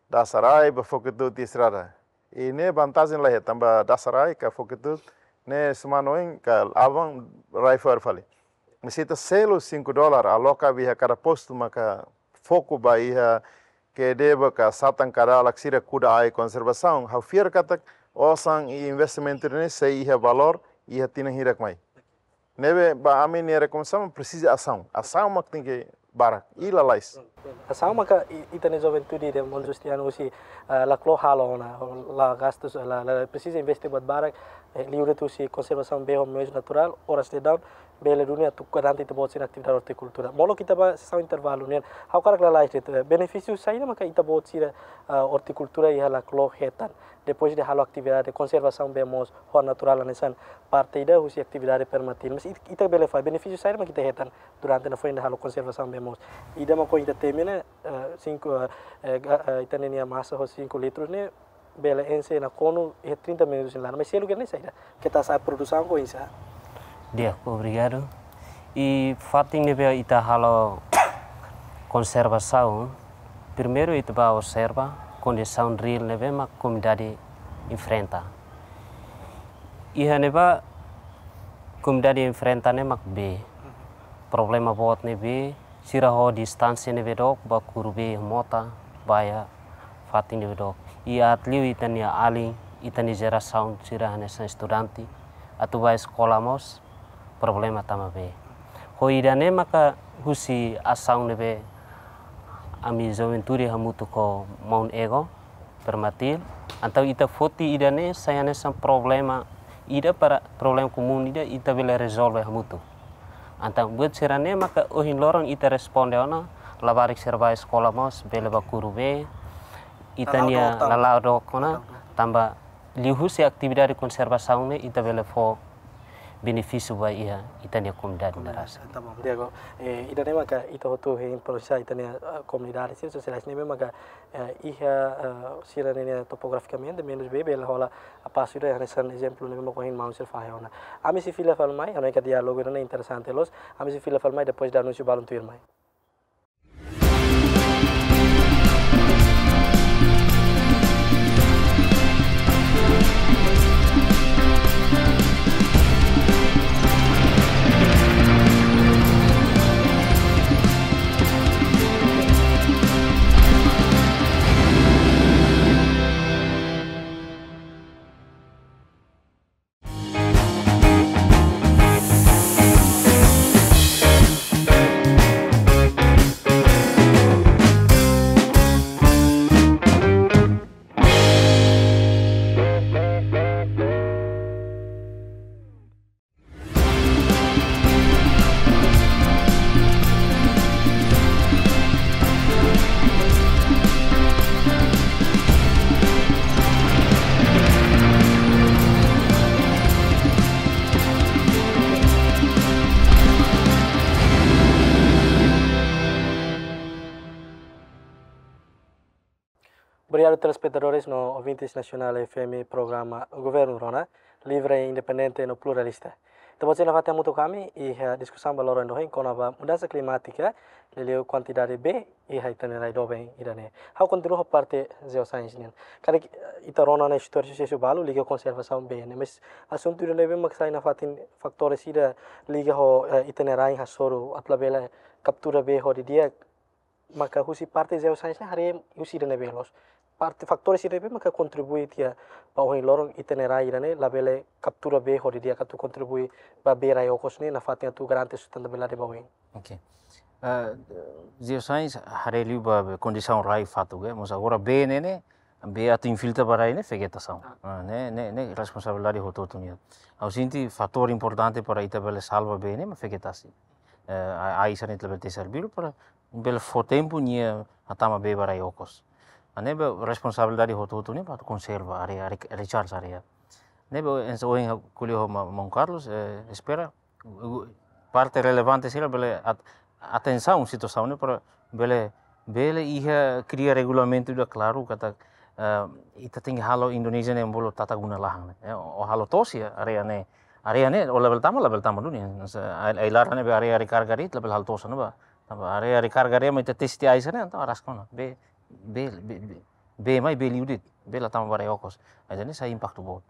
Dasarai ba Fokotu'u tiha estrada. I ne'e vantajen la iha tanba Dasarai ka Fokotu'u ne'e semana oin ka aban rai fo'er fali. Se ita selu cinco dólar, aloka ba iha kada postu maka foku ba iha ke'e debun ka satan ka dalak sira kuda ai konservasaun. Ha'u fiar katak osan i investimentu ne'e sei iha valór iha tinan hirak mai. Ne'ebé ba ami-nia rekomendasaun presiza asaun. Asaun mak tenke barak. I lalais. Asaun maka i-, ita-nia juventude ida Monu Justiano husi, eh, Laclo halo ona, la gastus, la, la presiza investe buat barak, eh, liuhusi konservasaun bee ho meius naturál, oras daudaun, bele duni atu garante ita-boot sira-nia atividade ortikultura. Molok ita ba sesaun intervalu nian, ha'u hakarak lalais de'it, eh, benefísiu saida maka ita-boot sira, eh, ortikultura iha Laclo hetan. Depois de halo atividade konservasaun bee moos ho naturál hanesan parte ida husi atividade Permatil. Mas it-, ita bele fahe benefísiu saida mak ita hetan durante nafatin ita halo konservasaun bee moos. Ida mak ohin ita temi ne'e, eh, cinco, eh, eh, ga-, eh, ita-nia masa ho cinco litros ne'e bele enxe nakonu iha trinta minutus nia laran. Mas seluk ne'e saida? Keta sa produsaun ko insa. Di'ak, obrigadu. I fatin ne'ebé ita halo konservasaun, primeiru ita ba observa kondisaun reál ne'ebé mak komunidade enfrenta. Iha ne'ebá komunidade enfrenta ne'e mak bee. Problema boot ne'e bee, sira ho distánsia ne'ebé dook ba kuru bee mota, ba iha fatin ne'ebé dook. I aat liu ita-nia alin, ita-nia jerasaun sira hanesan estudante, atu ba eskola mós problema tanba bee. Ho ida-ne'e maka husi asaun ne'ebé ami juventude hamutuk ho maun Ego, Permatil, entaun ita foti ida-ne'e sai hanesan problema ida para problema komún ida ita bele rezolve hamutuk. Entaun buat sira-ne'e maka ohin loron ita responde ona, labarik sira ba eskola mós bele ba kuru bee, ita-nia lala'ok ona, tanba liuhusi atividade konservasaun ne'e ita bele fó benefísiu ba iha ita-nia komunidade ne'e rasik. Tá bom, Diego. Eh, ida-ne'e maka ita hotu hein para ita-nia, eh, komunidade sira sosiais ne'ebé maka, eh, iha, eh, sira-ne'e topografikamente menus bee bele hola apasu ida hanesan ezemplu ne'ebé maka ohin maun sira fahe ona. Ami sei fila fali mai, hanoin katak diálogu ne'e interesante loos. Ami sei fila fali mai depois de anúnsiu balun tuirmai. Obrigadu, telespetadores no ouvintes Nasionál F M, programa Governu Rona, livre, independente no pluralista. Ita-boot sira nafatin hamutuk ho ami iha, eh, diskusaun ba loron ohin kona-ba mudansa klimátika, liuliu kuantidade bee iha ita-nia rai doben ida-ne'e. Ha'u kontinua ho parte geoscience nian. Karik, eh, ita rona ona istória susesu balu liga ho konservasaun bee ne'e. Mas asuntu ida-ne'ebé mak sai nafatin fatór ida liga ho, eh, ita-nia rain hasoru atu labele kaptura bee ho di'ak, maka husi parte geoscience ne'e haree husi ida-ne'ebé loos. parte fatór sira ne'ebé maka kontribui tiha ba ohin loron ita-nia rai ida-ne'e labele kaptura bee hodi di'ak atu kontribui ba bee rai okos ne'e nafatin atu garante sustentabilidade ba oin. Oke. Eh, Geoscience haree liu ba, ba kondisaun rai fatuk, eh. Mas agora bee ne'e, ne'e, bee atu infiltra ba rai ne'e vegetasaun. Ah, ne'e, ne'e, ne'e responsabilidade hotu-hotu nian. Ha'u sente fatór importante para ita bele salva bee ne'e mak vegetasi. Eh, a, a isa ne'e labele tesi arbiru para bele fó tempu nia hatama bee ba rai okos. Ne'ebé responsabilidade hotu-hotu nian para konserva área, re-, recharge área. Ne'ebé oinsá ohin ko'alia ho ma-, maun Carlos, eh, espera, parte relevante sira bele at-, atensaun situasaun ne'e para bele, bele iha kria regulamentu ida klaru katak, eh, ita tenke halo Indonézia ne'e bolu tata guna lahan ne'e. Eh, ó halo to'os iha área ne'e, área ne'e ó labele tama, labele tama duni. Ai-, ai-laran ne'ebé área rekarga de'it labele halo to'os ona ba. Tanba área rekarga de'it mak ita tesi tiha ai-sira ne'e, entaun araska ona. Bee, bee, bee, bee, bee mai bee liu de'it, bee la tama ba rai okos. Ai-sira ne'e sai impaktu boot.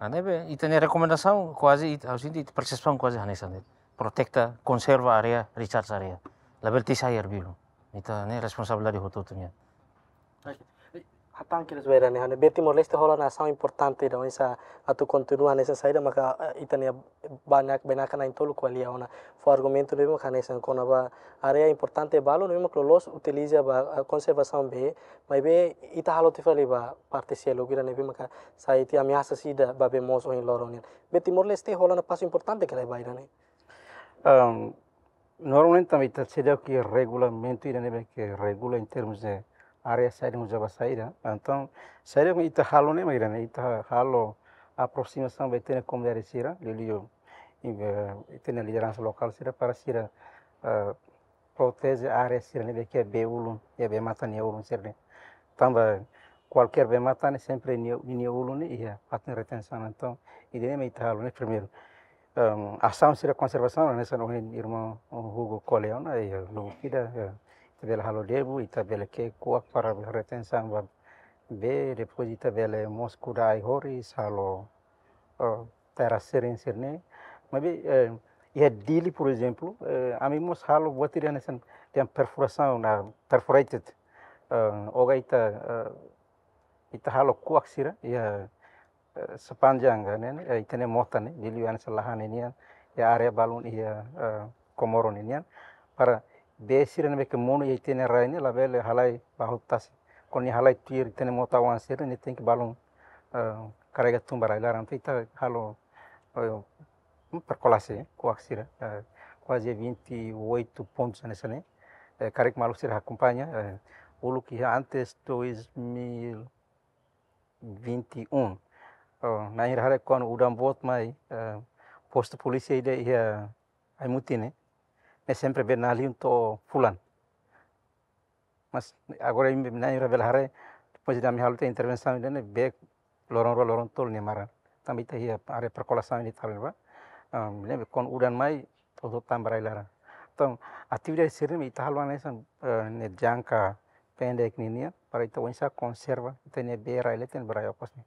Ne'ebé, ita-nia rekomendasaun kuaze, it-, ha'u sente ita persepsaun kuaze hanesan de'it. Proteta, konserva área, recharge área. Labele tesi arbiru. Ita-nia responsabilidade hotu-hotu nian. Hatán kedas ba ida-ne'e, ha'u hanoin bee Timor-Leste hola ona asaun importante ida oinsá atu kontinua hanesan saida maka, eh, ita-nia bainaka, bainaka na'in-tolu ko'alia ona. Fó argumentu ne'ebé maka hanesan kona-ba área importante balu ne'ebé maka loloos utiliza ba, eh, konservasaun bee, maibé ita halo tiha fali ba parte seluk ida ne'ebé maka sai tiha ameasa ida ba bee moos ohin loron nian. Bee Timor-Leste hola ona pasu importante ka lae ba ida-ne'e? Ehm, normalmente tanba ita seidauk iha regulamentu ida ne'ebé ke regula em termos de área saida uza ba saida. Entaun, saida ke ita halo ne'e mak ida-ne'e, ita halo aproximasaun ba ita-nia komunidade sira, liuliu, eh, ita-nia lideransa lokál sira para sira, eh, proteje área sira ne'ebé ke bee ulun, iha bee-matan nia ulun sira-ne'e. Tanba kualkér bee-matan ne'e sempre nia, nia ulun ne'e iha fatin retensaun. Entaun, ida-ne'e mak ita halo ne'e primeiru. Em, asaun sira konservasaun, hanesan ohin irmaun Hugo ko'alia ona, iha lubuk ida, eh, ita bele halo debu, ita bele ke'e kuak para retensaun ba bee, depois ita bele mós kuda ai-horis, halo, eh, terra sira-ne'e. Maibé, eh, iha Dili, por exemplo, eh, ami mós halo buat ida hanesan, tem perfuração na perforated. Eh, oga ita, eh, ita halo kuak sira, iha, eh, sepanjang, eh, ne'e, eh, ita-nia mota ne'e, Dili hanesan lahan ne'e nian, iha área balun iha, eh, Comoro ne'e nian, para bee sira ne'ebé ke monu iha ita-nia rai ne'e labele halai ba hotu tasi. Kuandu nia halai tuir ita-nia mota oan sira ne'e tenke balun, eh, karrega tun ba rai laran. Entaun ita halo, eh, perkolaje, eh, kuak sira, eh, kuaze vinte e oito pontos hanesan ne'e. Eh, karik maluk sira akompaña, eh, uluk iha antes dois mil vinte e um. Oh, na'in-hira haree kuandu udan boot mai, eh, postu polísia ida iha Aimutin ne'e, ne'e sempre bee na'in-liu to'o fulan. Mas agora imi na'in-hira bele haree, depois de ami halo tiha intervensaun ida-ne'e, bee loron rua, loron tolu nia maran. Tanba ita iha área perkolasaun ida tan ne'ebá. Ah, ne'ebé kuandu udan mai, hotu-hotu tama ba rai laran. Entaun, atividade sira-ne'e ita halo hanesan, eh, ne'e jangka pendek ninian, para ita oinsá konserva ita-nia bee rai leten, bee rai okos ne'e.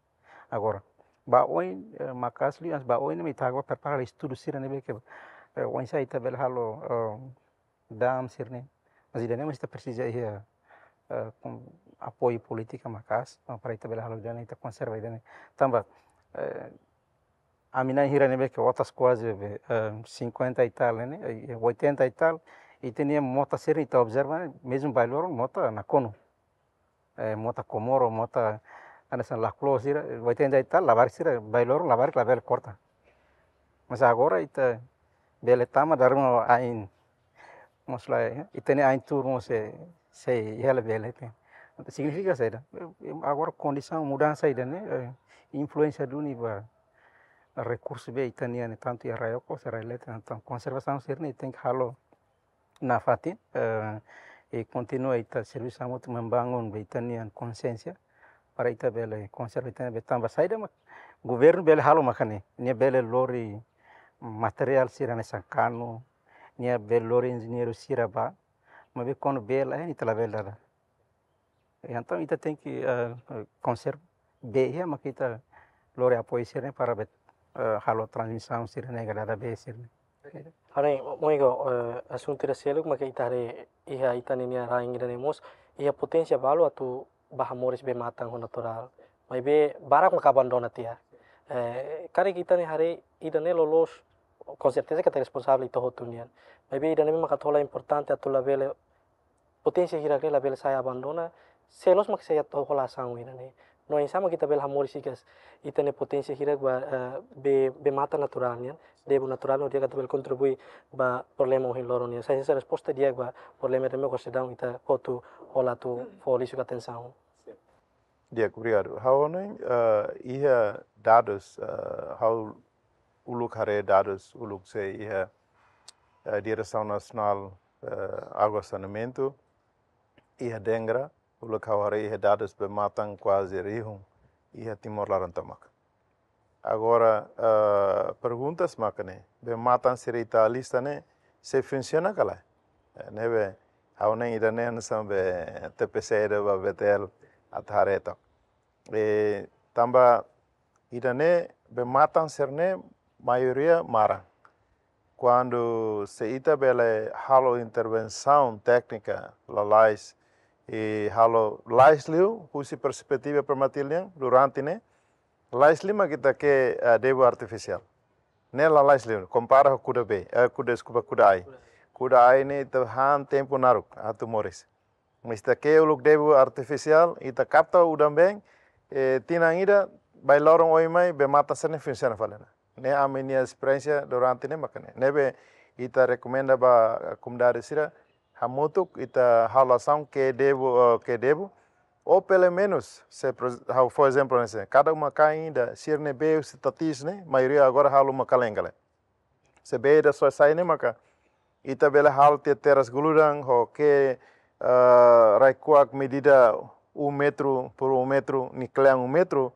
Agora, ba oin, eh, maka'as liu, ba oin ne'e ita agora prepara estudu sira ne'ebé ke, eh, oinsá ita bele halo, eh, dam sira-ne'e. Mas ida-ne'e mós ita presiza iha, eh, apoiu polítika maka'as, eh, para ita bele halo ida-ne'e, ita konserva ida-ne'e. Tanba, eh, ami na'in-hira ne'ebé ke otas kuaze be, eh, cinquenta e tal ne'e, eh, oitenta e tal, ita-nia mota sira-ne'e ita observa, mezmu bailoro mota nakonu. Eh, mota Comoro, mota hanesan Laclos sira, oitenta e tal, labarik sira, bailoro labarik labele korta. Mas agora ita bele tama dala ruma ain, mós la, eh, ita-nia ain tuur mós sei, sei iha labele, eh. Signifika saida? Eh, agora kondisaun mudansa ida-ne'e, eh, influénsia duni ba rekursu bee ita-nian ne'e tantu iha rai okos, rai leten, entaun konservasaun sira-ne'e tenke halo nafatin, eh, i kontinua ita servisu hamutuk membangun ba ita-nia konsiénsia, para ita bele konserva ita-nia bee tanba saida mak governu bele halo maka ne'e, nia bele lori materiál sira hanesan kanu, nia bele lori enjeñeiru sira bá, maibé kuandu bee laiha ne'e ita labele dada. Entaun ita tenke, eh, konserva bee iha maka ita lori apoiu sira-ne'e para bele, eh, halo transmisaun sira-ne'e ka dada bee sira-ne'e. Hanoin, maun Hugo, eh, asuntu ida seluk maka ita haree iha ita-nia rain ida-ne'e mós iha poténsia balu atu ba hamoris bee-matan ho naturál. Maibé barak maka abandona tiha. Eh, karik ita-nia haree ida-ne'e loloos, konserteza katak responsavel ita hotu nian. Maibé ida-ne'e maka atu hola importante atu labele, poténsia hirak ne'e labele sai abandona, se loos mak sei atu hola asaun ida-ne'e. No oinsá mak ita bele hamoris hikas ita-nia poténsia hirak ba, eh, bee, bee-matan naturál nian, debu naturál no di'ak atu bele kontribui ba problema ohin loron nian. Sai hanesan resposta di'ak ba problema ida-ne'e mós seidauk ita hotu hola atu fó liuhusi atensaun. Di'ak, obrigadu. Ha'u hanoin, eh, iha dadus, eh, ha'u uluk haree dadus uluk sei iha, eh, Diresaun Nasionál, eh, Água Saneamentu, iha Dengra, uluk ha'u haree iha dadus bee-matan kuaze rihun iha Timor laran tomak. Agora, eh, perguntas mak ne'e, bee-matan sira ita lista ne'e, sei funsiona ka lae? Eh, ne'ebé, ha'u hanoin ida-ne'e hanesan be T P C ida ba B T L atu haree took. Eh, tanba ida-ne'e bee-matan sira-ne'e maioria maran. Kuandu se ita bele halo intervensaun téknika lalais, i halo lalais liu, husi perspetiva permatil nian, durante ne'e, lalais liu mak ita ke'e, eh, debu artifisiál. Ne'e lalais liu, kompara ho kuda bee, eh, kuda, deskulpa, kuda-ain. Kuda-ain ne'e ita han tempu naruk atu moris. Mas ita ke'e uluk debu artifisiál, ita kapta udan-been, eh, tinan ida, ba loron oin mai, bee-matan sira-ne'e funsiona fali ona. Ne'e ami-nia esperiénsia durante ne'e mak ne'e. Ne'ebé ita rekomenda ba komunidade sira, hamutuk ita halo asaun ke'e debu, eh, ke'e debu. Ou pelumenus, se pro-, ha'u fó ezemplu ne'e, se kada uma-kain ida, sira-nia bee husi tatis ne'e, maioria agora halo uma-kalan kala. Se bee ida soe sai ne'e maka ita bele halo tiha teras guludan ho ke'e, eh, rai-kuak medida um metru por um metru, nia kle'an um metru.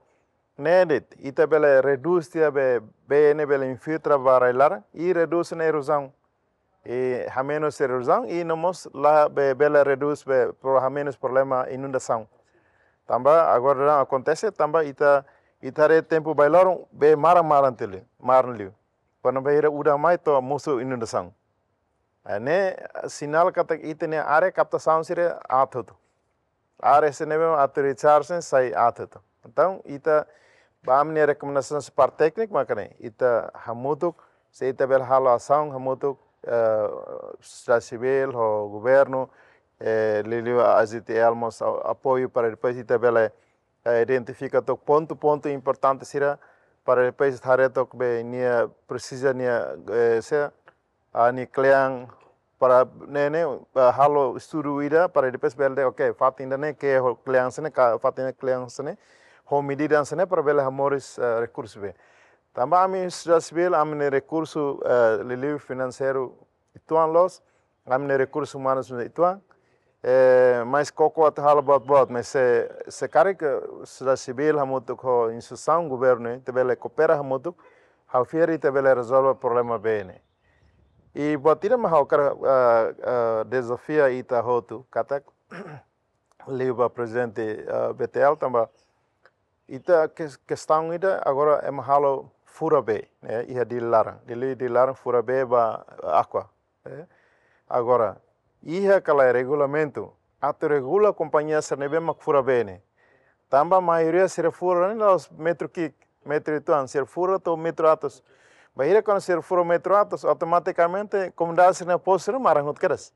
Ne'e de'it, ita bele redús tiha bee, bee ne'e bele infiltra ba rai-laran, i redús ona erozaun. I hamenus erozaun, i no mós la be-, bele redús be pro-, hamenus problema inundasaun. Tanba agora daudaun akontese, tanba ita, ita haree tempu ba loron, bee maran-maran tiha liu, maran liu. Kuandu bainhira udan mai to'o mosu inundasaun. Eh, ne'e sinál katak ita-nia área kaptasaun sira aat hotu. Área sira-ne'ebé atu recharge sai aat hotu. Entaun, ita, ba ami-nia rekomendasaun husi parte téknika mak ne'e, ita hamutuk, se ita bele halo asaun hamutuk, eh, sosiedade sivíl ho governu, eh, liuliu A Z T L mós a-, apoiu para depois ita bele, eh, identifika took pontu-pontu importante sira para depois haree took be nia presiza nia, eh, se a nia kle'an para ne'e ne'e, eh, halo estudu ida para depois bele, ok, fatin ida-ne'e ke'e ho kle'an sira-ne'e, ka fatin ida kle'an sira-ne'e, ho medida sira-ne'e para bele hamoris, eh, rekursu bee. Tanba ami sosiedade sivíl, ami-nia rekursu, eh, liuliu finanseiru uitoan loos, ami-nia rekursu umanus uitoan, eh, mais koko atu halo buat-buat, mais se, se karik sosiedade sivíl hamutuk ho instituisaun governu, ita bele koopera hamutuk, ha'u fiar ita bele rezolve problema bee ne'e. I buat ida mak ha'u hakarak, ah, ah, dezafia ita hotu, katak liu ba prezidente, ah, B T L tanba ita kes-, kestaun ida agora ema halo fura bee, eh, iha Dili laran. Dili, Dili laran fura bee ba Aqua, eh. Agora, iha ka lae regulamentu atu regula kompañia sira-ne'ebé mak fura bee ne'e. Tanba maioria sira fura ne'e la'ós metru ki'ik, metru uitoan, sira fura to'o metru atus. Bainhira kuandu sira fura metru atus, automatikamente komunidade sira-nia posu sira maran hotu kedas.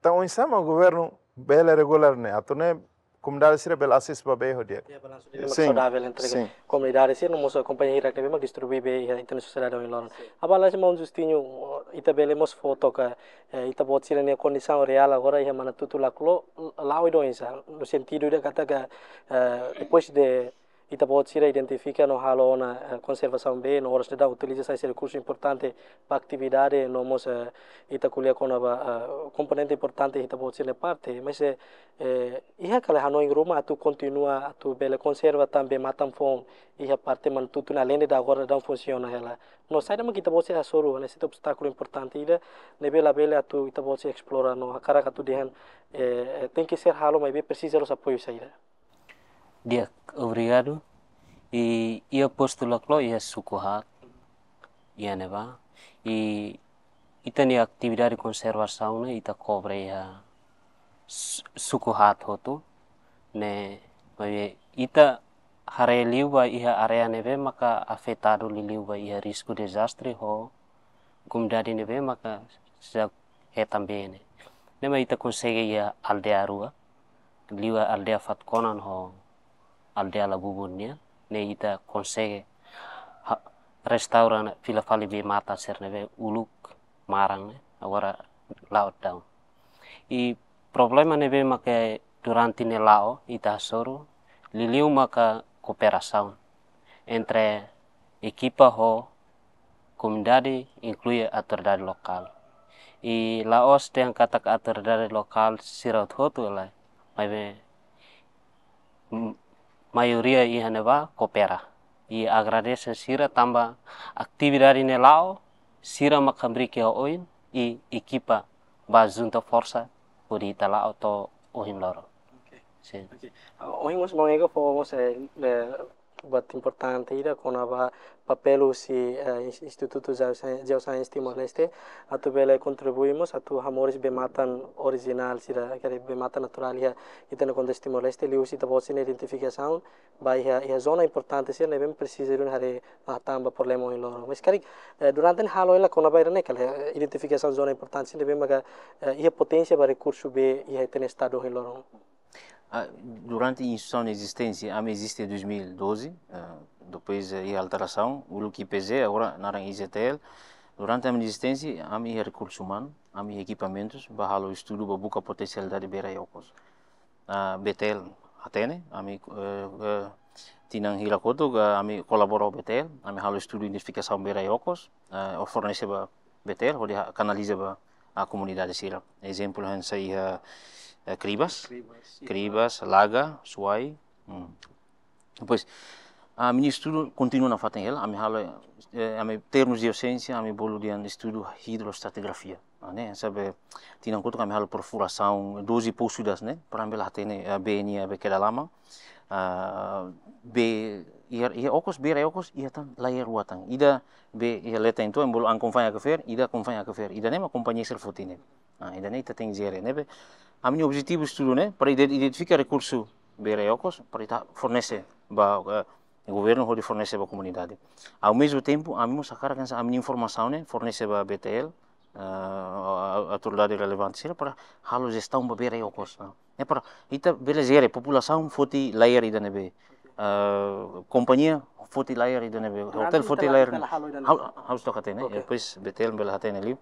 Entaun, oinsá mak governu bele regula ne'e, atu nune'e komunidade sira bele asesu ba bee ho di'ak. Ya, balansu de Sin, saudável entre sin. Komunidade sira no mós kompañia hirak ne'ebé mak distribui bee iha ita-nia sosiedade ohin loron. Sin. Aban la'ós maun Justinho, ita bele mós fó took, eh, ita-boot sira-nia kondisaun reál agora iha Manatutu, Laclo, la'o ida oinsá, no sentidu ida katak, eh, depois de ita-boot sira identifika no halo ona, eh, konservasaun bee, no oras daudaun utiliza sai hanesan rekursu importante ba atividade, no mós, eh, ita ko'alia kona-ba, eh, komponente importante ita-boot sira-nia parte, mas, eh, eh, iha ka lae hanoin ruma atu kontinua atu bele konserva tan bee-matan foun iha parte Manatutu ne'e, além de agora daudaun funsiona hela. No saida mak ita-boot sira hasoru, ne'e sai obstákulu importante ida, ne'ebé labele atu ita-boot sira esplora no hakarak atu dehan, eh, eh, tenke ser halo, maibé presiza loos apoiu saida. Di'ak, obrigadu. I iha postu Laclo iha suku haat, iha ne'ebá. I ita-nia atividade konservasaun ne'e ita kobre iha su-, suku haat hotu. Ne'e, maibé ita haree liu ba iha área ne'ebé maka afetadu liuliu ba iha risku dezastre ho komunidade ne'ebé maka seidauk hetan bee ne'e. Ne'e mak ita konsege iha aldeia rua, liu aldeia Fatukonan ho aldeia Labubun nian, ne'e ita konsege ha-, restaura ne'e fila fali bee-matan sira ne'ebé uluk maran ne'e, agora la'o daudaun. I problema ne'ebé maka durante ne'e la'o ita hasoru, liuliu maka kooperasaun entre ekipa ho komunidade, inklui autoridade lokál. I la'ós dehan katak autoridade lokál sira hotu-hotu lae, maibé, m-, maioria iha ne'ebá koopera. I agradese sira tanba atividade ne'e la'o, sira mak hamriik iha oin, i ekipa bá junta forsa hodi ita la'o to'o ohin loron. Oke. Sin. Oke. Ohin mós maun Ega fó mós, eh, eh, buat importante ida kona-ba papél husi, eh, Ins-, Institutu Geosci-, Geoscience Timor-Leste, atu bele kontribui mós atu hamoris bee-matan orijinál sira, karik bee-matan naturál iha ita-nia kontestu Timor-Leste, liuhusi ita-boot sira-nia identifikasaun ba iha, iha zona importante sira ne'ebé presiza duni haree hatán ba problema ohin loron. Mas karik, eh, durante ne'e halo hela kona-ba ida-ne'e ka lae, eh, identifikasaun zona importante sira ne'ebé maka, eh, iha poténsia ba rekursu bee iha ita-nia estadu ohin loron. Ah, durante instituisaun ezisténsia, ami eziste dois mil e doze, ah, depois, eh, iha alterasaun, uluk I P Z, agora naran I Z T L. Durante ami ezisténsia, ami iha rekursu umanu, ami iha ekipamentus, bá halo estudu, bá buka potensialidade bee rai okos. Ah, B T L hatene, ami, eh, eh, tinan hira kotuk, ah, ami kolabora ho B T L, ami halo estudu identifikasaun bee rai okos, eh, hodi fornese ba B T L, hodi ha-, kanaliza ba, ah, komunidade sira. Ezemplu hanesan iha, eh, Cribas, Cribas, Cribas, Laga, Suai. Hmm. Depois, ami-nia estudu kontinua nafatin hela, ami halo, eh, ami termus de docência, ami bolu dehan estudu hidrostratigrafia. Ah, ne'e, hanesan tinan kotuk ami halo perfurasaun doze poço das, ne'e, para ami bele hatene, eh, bee nia, bee kedalaman. Ah, bee, iha, iha okos, bee rai okos, iha tan layer rua tan. Ida bee iha leten tua, ami bolu an konfain Aquifer, ida konfain Aquifer. Ida-ne'e mak kompañia sira foti ne'e. Ah, ida-ne'e ita tenke jere, ne'ebé ami-nia objetivu estudu ne'e, para ide-, identifika rekursu bee rai okos, para ita fornese ba, eh, governu hodi fornese ba komunidade. Ao mesmo tempo, ami mós hakarak hanesan ami-nia informasaun ne'e fornese ba B T L, eh, a-, a-, autoridade relevante sira para halo jestaun ba bee rai okos, ah. Ne'e para ita bele jere, populasaun foti layer ida ne'ebé. Eh, kompañia foti layer ida ne'ebé. Durante hotel ita foti la-, layer ita la halo ida ne'ebé. Ha'u, ha'u seidauk hatene, ok. Depois B T L bele hatene liu.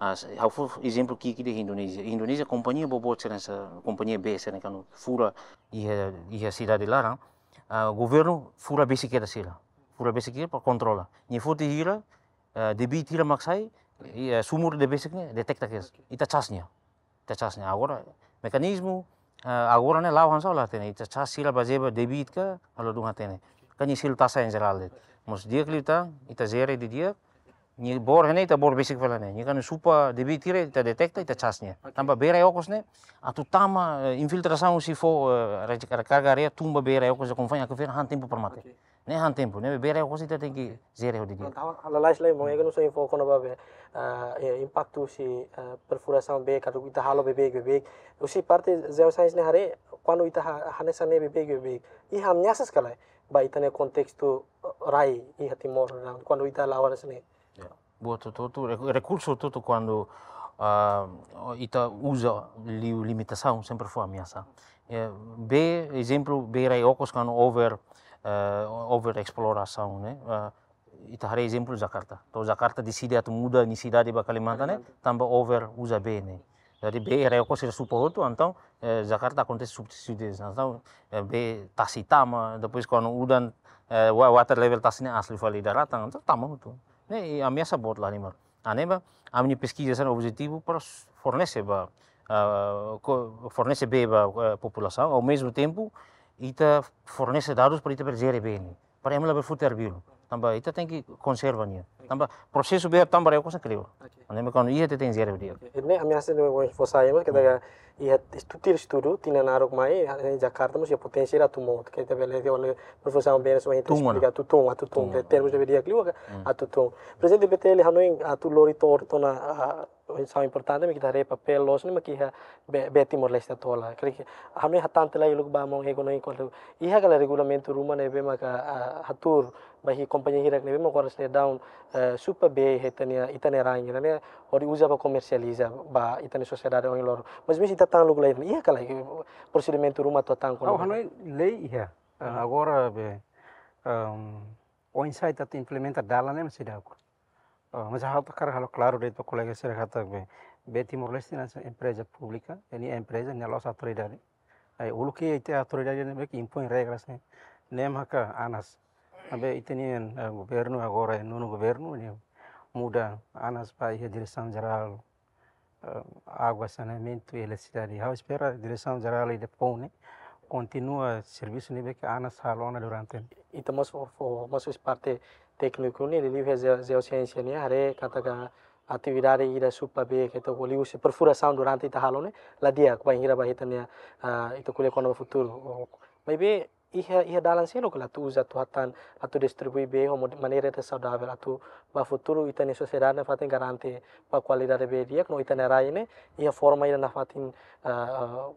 Ah, s-, ha'u fó ezemplu ki'ik ida Indonézia. Indonézia kompañia boboot sira hanesan, kompañia bee sira ne'e kuandu fura iha, iha sidade laran, ah, governu fura besik kedas sira. Fura besik kedas para kontrola. Nia foti hira, ah, debit hira mak sai, i, ah, sumur de besik ne'e detekta kedas. Ita cas nia. Ita cas nia. Agora, mekanizmu, ah, agora ne'e la'o hanesan la hatene. Ita cas sira bazeia ba debit ka, halo dun hatene. Kan nia selu taxa en jerál de'it. Mas di'ak liután, ita jere didi'ak, nia bor ne'e, ita bor besik fali ne'e. Nia kan supa debit hira, ita detekta, ita cas nia. Ok. Tanba bee rai okos ne'e, atu tama, eh, infiltrasaun husi fo, eh, re-, rekarga areia tun ba bee rai okos, konfain Aquifer han tempu para mate. Ok. Ne'e han tempu, ne'e bee rai okos ita tenke jere ho didi'ak. Pronto, ha'u lalais lai, maun Ega nusa info kona-ba bee, ah, eh, impaktu husi, eh, perfurasaun bee, karik ita halo beibeik, beibeik. Husi parte geoscience ne'e haree, kuandu ita ha-, hanesan ne'e beibeik, beibeik. Iha ameasas ka lae, ba ita-nia kontestu, eh, rai, iha Timor, kuandu ita la'o hanesan ne'e. Ya. Buat hotu-hotu, re-, rekursu hotu-hotu kuandu, ah, ita uza liu limitasaun sempre fó ameasa. Eh, bee, ezemplu, bee rai okos kuandu over, eh, over explorasaun, ne'e? Ah, ita haree ezemplu Jakarta. To'o Jakarta deside atu muda nia sidade ba Kalimantan, ne'e? Kalimantan. Tanba over uza bee ne'e. Jadi bee rai okos sira supa hotu, entaun, eh, Jakarta akontese subsídiu. Entaun, eh, bee tasi tama, depois kuandu udan, eh, wa-, water level tasi ne'e aas liu fali daratan, entaun tama hotu. Ne'e, i ameasa boot la halimar. Ah, ne'ebé, ami-nia peskiza sira objetivu para s-, fornese ba, ah, ko-, fornese bee ba, eh, populasaun, ao mesmo tempo, ita fornese dadus para ita bele jere bee ne'e. Para ema labele foti arbiru. Tanba ita tenke konserva nia. Tanba prosesu bee tama ba rai okos ne'e kleur. Ok. Ne'ebé kuandu iha ita tenke jere di'ak. Ok. Ne'e ameasa ne'e mós fó sai, mas kita Hmm. iha estu-, tuir estudu, tinan naruk mai, iha Jakarta mós iha poténsia atu mout. Ke ita bele, ke ona, profesór Benes, atu tun, atu tun, atu tun. Tun. Ke termus de vida, kleur ka, Hmm. atu tun. Prezidente B T L hanoin atu lori to'o, to'o ona, ah, oinsá importante mak ita haree papél loos ne'e mak iha bee, bee Timor-Leste atu hola. Krik, ha'u hatán tiha lai uluk ba maun Ego no enkuantu iha kala regulamentu ruma ne'ebé maka, ah, hatuur ba iha kompañia hirak ne'ebé maka oras ne'e daudaun, eh, supa bee iha ita-nia, ita-nia rai ne'e, hodi uza ba komersializa ba ita-nia sosiedade oin loron. Mas mezmu ita tan uluk lai, iha kala prosedimentu ruma atu tan kona. Ha'u hanoin lei iha. Eh, Hmm. agora be, ehm, oinsá ita atu implementa dalan ne'e mak seidauk. Ah, mas ha'u hakarak halo klaru de'it ba kolega sira katak be, bee Timor-Leste ne'e hanesan empreza públika, ne'e empreza, ne'e la'ós autoridade. Ai, uluk ita autoridade ne'ebé ke impoin regras ne'e, ne'e maka ANAS. Maibé ita-nia, eh, governu agora, eh, nonu governu, ne'e muda ANAS ba iha Diresaun Jerál, eh, Água, Saneamentu i Eletrisidade. Ha'u espera Diresaun Jerál ida foun ne'e kontinua servisu ne'ebé ke ANAS halo ona durante. Ita mós fó, fó, mós husi parte tékniku ne'e, liuliu iha jeo-, jeosiénsia ne'e, haree katak atividade ida supa bee, ke ita ko'alia husi perfurasaun durante ita halo ne'e, la di'ak, bainhira ba ita-nia, ah, ita ko'alia kona-ba futuru. Maibé, iha, iha dalan seluk ka lae atu uza, atu hatán, atu distribui bee ho mod-, maneira ida saudavel, atu ba futuru ita-nia sosiedade nafatin garante ba kualidade bee di'ak, no ita-nia rai ne'e iha forma ida nafatin, ah, ah,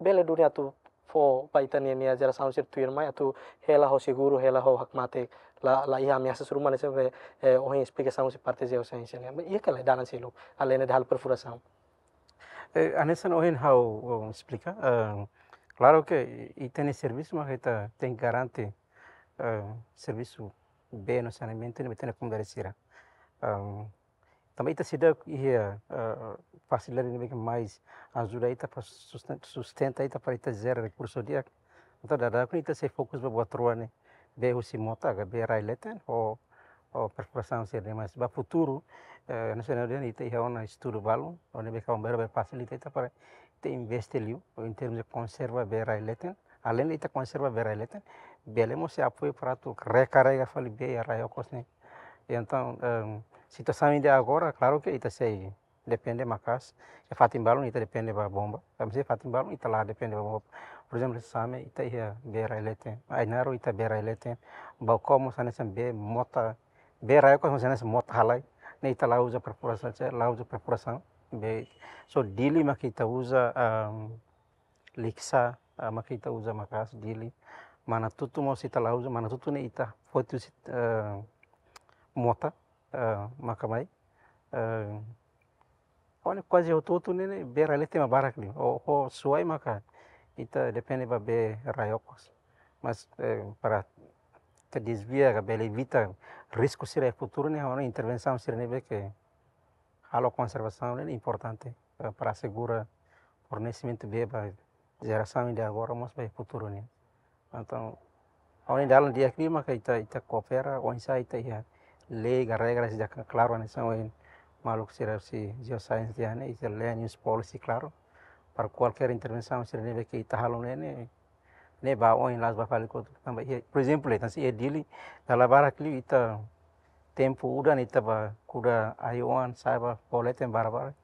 bele duni atu fó ba ita-nia, nia jerasaun sira tuirmai atu hela ho seguru, hela ho hakmatek, la, la iha ameasas ruma ne'e sempre, eh, ohin esplikasaun husi parte jeosiénsia ne'e. Iha kala dalan seluk, além de halo perfurasaun. Eh, hanesan ohin ha'u, ha'u esplika, eh, klaru ke ita-nia servisu mak ita tenke garante, eh, servisu bee no saneamentu ne'e ba ita-nia komunidade sira. Em, tanba ita seidauk iha, eh, fasilidade ne'ebé ke mais ajuda ita para susten-, sustenta ita para ita jera rekursu di'ak. Entaun dadauk ne'e ita sei fokus ba buat rua ne'e, bee husi mota ka bee rai leten ho, ho perfurasaun sira-ne'e, mas ba futuru, eh, nasionál dehan ita iha ona estudu balun, o ne'ebé ke aumber be fasilita ita para ita investe liu, ou em termos de konserva bee rai leten, além de ita konserva bee rai leten, bele mós sei apoiu para atu rekarrega fali bee iha rai okos ne'e. Entaun, em, situasaun ida agora, klaru ke ita sei depende maka'as, iha fatin balun ita depende ba bomba, tanba iha fatin balun ita la depende ba bomba. Por ezemplu, Same ita iha bee rai leten, Ainaro ita bee rai leten, Baucau mós hanesan bee mota, bee rai okos mós hanesan mota halai, ne'e ita la uza perfurasaun, la uza perfurasaun, bee, só Dili mak ita uza, em, Likisá, ah, mak ita uza maka'as Dili. Manatutu mós ita la uza, Manatutu ne'e ita foti husi, eh, mota, eh, maka mai. Eh, ho ne'e kuaze hotu-hotu ne'e, ne'e bee rai leten mak barak liu. Ho, ho Suai maka ita depende ba bee rai okos. Mas, eh, para ita dezvia ka bele evita risku sira iha futuru ne'e, ho ne'e intervensaun sira ne'ebé ke halo konservasaun ne'e importante, eh, para asegura fornesimentu bee ba jerasaun ida agora mós ba futuru nian. Entaun, ho ne'e dalan di'ak liu maka ita, ita koopera, oinsá ita iha lei ka regras ida klaru hanesan ohin maluk sira husi jeoscience dehan ne'e, ita land use policy klaru. Para kualkér intervensaun sira ne'ebé ke ita halo ne'e, ne'e, ne'e ba oin la'ós ba fali kotuk tanba iha, por ezemplu, ita sei iha Dili, dala barak liu ita tempu udan ita bá kuda ai-oan, sa'e bá fó leten barak-barak.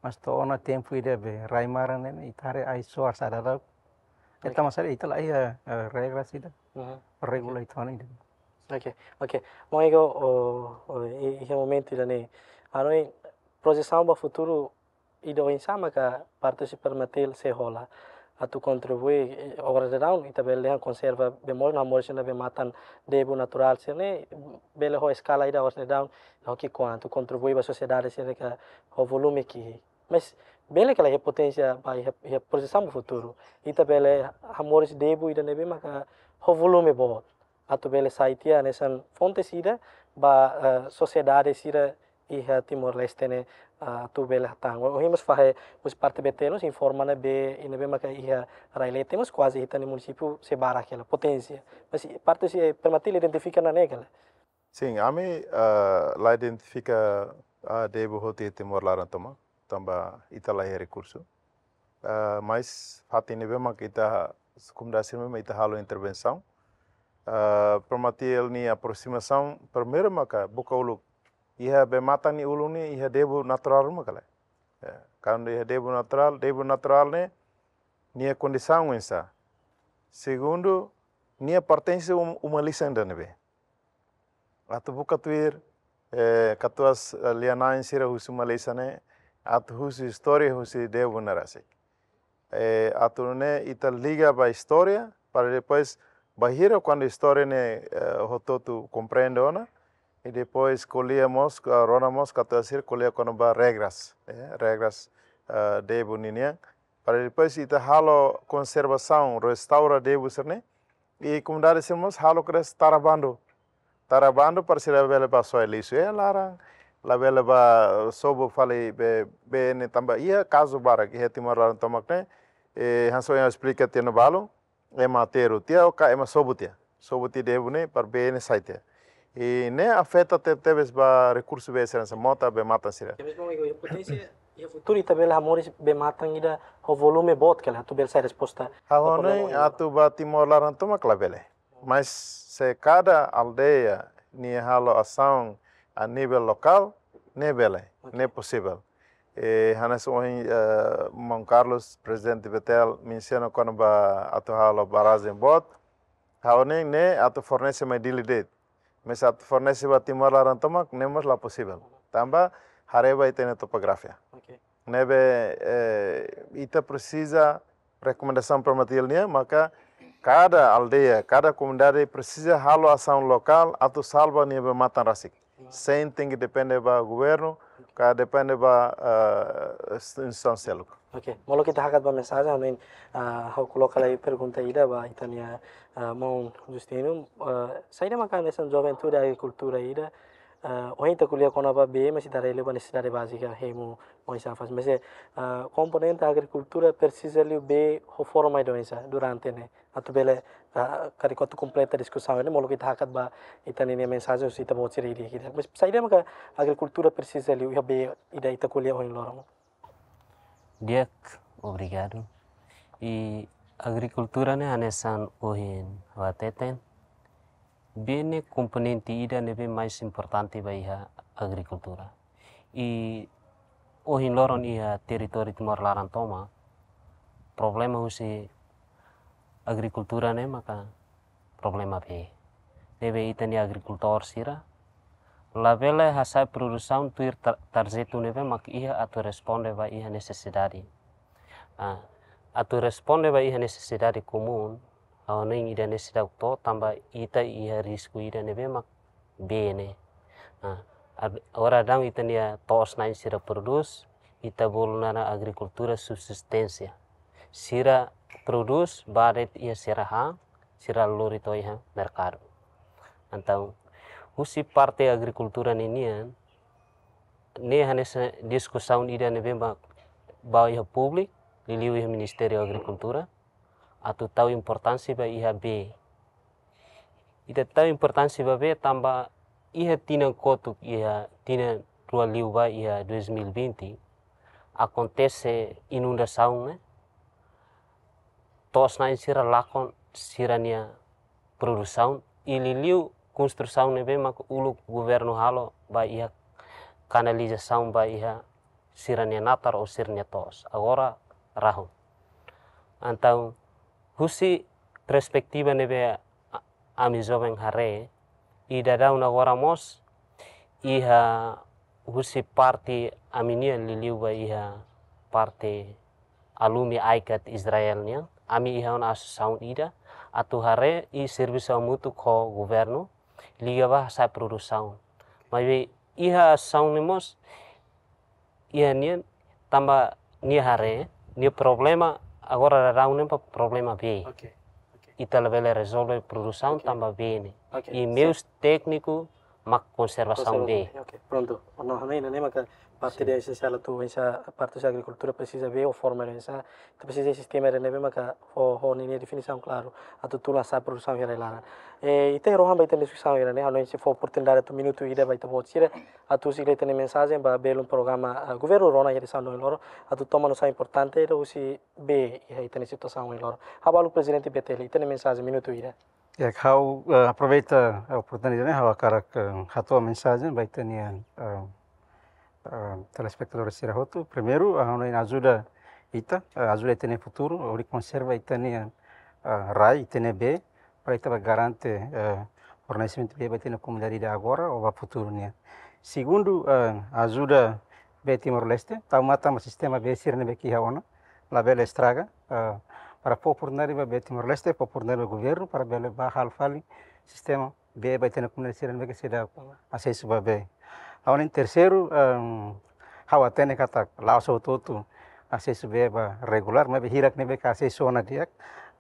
Mas to'o ona tempu ida be rai maran ne'e, ita haree ai-soar sa'e dadauk. Oke. Ita masalah ita la iha, eh, regras ida. Mhm. Regula ita-nia ida. Oke, oke. Maun Ego, o, o, i, iha momentu ida-ne'e, ha'u hanoin projesaun ba futuru ida oinsá maka parte husi Permatil sei hola atu kontribui, eh, oras daudaun ita bele dehan konserva bee moos no hamoris ona bee-matan debu naturál sira-ne'e, bele ho eskala ida oras daudaun, ho ki'ikoan atu kontribui ba sosiedade sira ka ho volume ki'ik. Mas bele ka lae iha poténsia ba iha, iha projesaun ba futuru ita bele hamoris debu ida ne'ebé maka ho volume boot atu bele sai tiha hanesan fonte ida ba, eh, sosiedade sira iha Timor-Leste ne'e, ah, atu bele hatán. Ohin mós fahe husi parte B T L mós informa ona bee ida ne'ebé maka iha rai leten mós kuaze ita-nia munisípiu sei barak hela poténsia. Mas parte husi, eh, Permatil identifika ona ne'e ka lae? Sin, ami, ah, la identifika, ah, debu hotu iha Timor laran tomak, tanba ita la iha rekursu. Ah, mas fatin ne'ebé maka ita, komunidade sira ne'ebé mak ita halo intervensaun. Ah, Permatil nia aproximasaun, primeiru maka buka uluk iha bee-matan nia ulun ne'e iha debu naturál ruma ka lae. Ya, kuandu iha debu naturál, debu naturál ne'e nia kondisaun oinsá. Segundu, nia pertense um-, uma lisan ida ne'ebé. Atu buka tuir, eh, katuas, eh, lia-na'in sira husi Malísia ne'e, atu husu istória husi Debo ne'e rasik. Eh, atu nune'e ita liga ba istória, para depois bainhira kuandu istória ne'e, eh, hotu-hotu komprende ona, i depois ko'alia mós, ah, rona mós katuas sira ko'alia kona-ba regras, eh, regras, ah, Debo ninian, para depois ita halo konservasaun, restaura Debo sira-ne'e, i komunidade sira mós halo kedas tara bandu. Tara bandu para sira bele bá soe lixu iha laran, labele bá sobu fali bee, bee ne'e tanba iha kazu barak iha Timor laran tomak ne'e, eh, hanesan ohin esplika tiha ona balun, ema aterru tiha ou ka ema sobu tiha. Sobu tiha Debo ne'e para bee ne'e sai tiha. I ne'e afeta te-, tebes ba rekursu bee sira hanesan mota, bee-matan sira. Tebes ba iha poténsia, iha futuru ita bele hamoris bee-matan ida ho volume boot ka lae, atu bele sai resposta ba problema ne'e ida. Atu ba Timor laran tomak labele. Mas se kada aldeia nia halo asaun a nivel lokál, ne'e bele, ne'e posivel. Eh, hanesan ohin, eh, maun Carlos, prezidente Betel, mensiona kona-ba atu halo barrajen boot, ha'u hanoin ne'e atu fornese mai Dili de'it. Mas atu fornese ba Timor laran tomak, ne'e mós la posivel. Tanba haree ba ita-nia topografia. Ne'ebé, eh, ita presiza rekomendasaun Primatial nian, maka kada aldeia, kada komunidade presiza halo asaun lokál atu salva nia bee-matan rasik. Sein tenke depende ba governu, ka depende ba, eh, instituisaun seluk. Ok, molok ita hakat ba mensajen, ha'u hanoin, ah, ha'u koloka lai pergunta ida ba ita-nia, ah, maun Justino, ah, saida maka hanesan juventude agrikultura ida, ah, ohin ita ko'alia kona-ba bee, mas ita haree liu ba nesesidade bázika hemu, oinsá fase. Mas, eh, ah, komponente agrikultura presiza liu bee ho forma ida oinsá durante ne'e. Atu bele, ah, karik atu kompleta diskusaun ne'e, molok ita hakat ba ita-nia mensajen husi ita-boot sira ida-idak. Mas saida maka agrikultura presiza liu iha bee ida ita ko'alia ohin loron? Di'ak, obrigadu. I agrikultura ne'e hanesan ohin ha'u hateten, bee ne'e komponente ida ne'ebé mais importante ba iha agrikultura. I ohin loron iha territóriu Timor laran tomak, problema husi agrikultura ne'e maka problema bee. Ne'ebé ita-nia agrikultór sira labele hasa'e produsaun tuir tar-, tarjetu ne'ebé mak iha atu responde ba iha nesesidade. Ah, atu responde ba iha nesesidade komún, ha'u hanoin ida ne'e seidauk to'o tanba ita iha risku ida ne'ebé mak bee ne'e. Ah, ad-, agora daudaun ita-nia to'os-na'in sira prodús, ita bolu naran agrikultura subsisténsia. Sira prodús, bá de'it iha sira han, sira lori to'o iha merkadu. Entaun, husi parte agrikultura ninian, ne'e hanesan diskusaun ida ne'ebé ba, ba iha públiku, liuliu iha Ministériu Agrikultura, atu tau importánsia ba iha bee. Ita tau importánsia ba bee tanba iha tinan kotuk, iha tinan rua liubá iha dois mil e vinte, akontese inundasaun ne'e, to'os-na'in sira lakon sira-nia produsaun, i liuliu konstrusaun ne'ebé mak uluk governu halo ba iha kanalizasaun ba iha sira-nia natar ou sira-nia to'os. Agora rahun. Entaun, husi perspetiva ne'ebé a-, ami joven haree, i daudaun agora mós, iha husi parte ami-nian liuliu ba iha parte alumi ICAT Israel nian, ami iha ona asosiasaun ida, atu haree i servisu hamutuk ho governu, liga ba hasa'e produsaun. Maibé iha asosiasaun ne'e mós, iha nian tanba nia haree, nia problema, agora daudaun ne'e problema bee. Ok, ok. Ita labele rezolve produsaun, ok, tanba bee ne'e. Ok, i meius, sip, tékniku mak konservasaun, konservasaun bee. Bee, ok, prontu. Ona hanoin ne'e maka parte, sin, ida esensiál atu oinsá parte husi agrikultura presiza bee ho forma oinsá, ita presiza sistema ida ne'ebé maka ho, ho ninia definisaun klaru, atu tula hasa'e produsaun iha rai-laran. Eh, ita rohan ba ita diskusaun ida-ne'e, ha'u hanoin sei fó oportunidade atu minutu ida ba ita-boot sira, atu husik lai ita-nia mensajen ba belun programa, ah, governu rona iha edisaun ohin loron, atu toma nosaun importante ida husi bee iha ita-nia situasaun ohin loron. Habalu Prezidente Betel, ita-nia mensajen minutu ida. Ya, ha'u, eh, aproveita oportunidade ne'e, ha'u hakarak, eh, hato'o mensajen ba ita-nia, eh, eh, telespetadór sira hotu. Primeiru, ah, ha'u hanoin ajuda ita, eh, ajuda ita-nia futuru, hodi konserva ita-nia, eh, rai, ita-nia bee, para ita bá garante, eh, fornesimentu bee ba ita-nia komunidade ida agora ou ba futuru nian. Segundu, eh, ajuda bee Timor-Leste, tau matan ba sistema bee sira ne'ebé ke iha ona, labele estraga, eh, para fó oportunidade ba bee Timor-Leste, fó oportunidade ba governu, para bele bá halo fali sistema bee ba ita-nia komunidade sira ne'ebé ke seidauk asesu ba bee. Agora, iha terseiru, ehm, ha'u hatene katak la'ós hotu-hotu asesu bee ba regulár, maibé hirak ne'ebé ke asesu ona di'ak,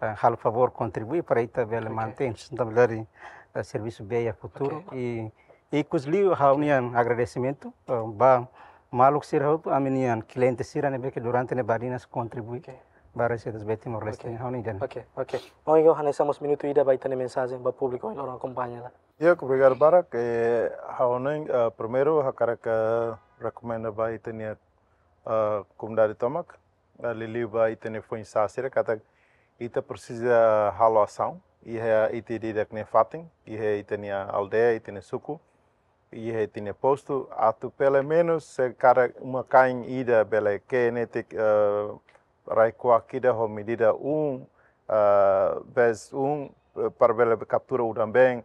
eh, halo favór kontribui para ita bele mantein sustentabilidade, eh, servisu bee iha futuru. I, ikusliu ha'u-nian agradesimentu, eh, ba maluk sira hotu, ami-nian kliente sira ne'ebé ke durante ne'e badinas kontribui ba reseitas bee Timor-Leste. Ha'u-nian. Oke, oke. Ohin ha'u hanesan mós minutu ida ba ita-nia mensajen ba públiku ohin loron akompaña ona. Ya, obrigadu barak. Eh, ha'u-nian, eh, primeiru, hakarak, eh, rekomenda ba ita-nia, eh, komunidade tomak, eh, liuliu ba ita-nia foin-sa'e sira, katak ita presiza halo asaun iha ita ida-idak nia fatin, iha ita-nia aldeia, ita-nia suku, iha ita-nia postu, atu pelumenus se kada uma-kain ida bele ke'e netik, eh, rai-kuak ida ho medida um, eh, bes um, eh, para bele kaptura udan-been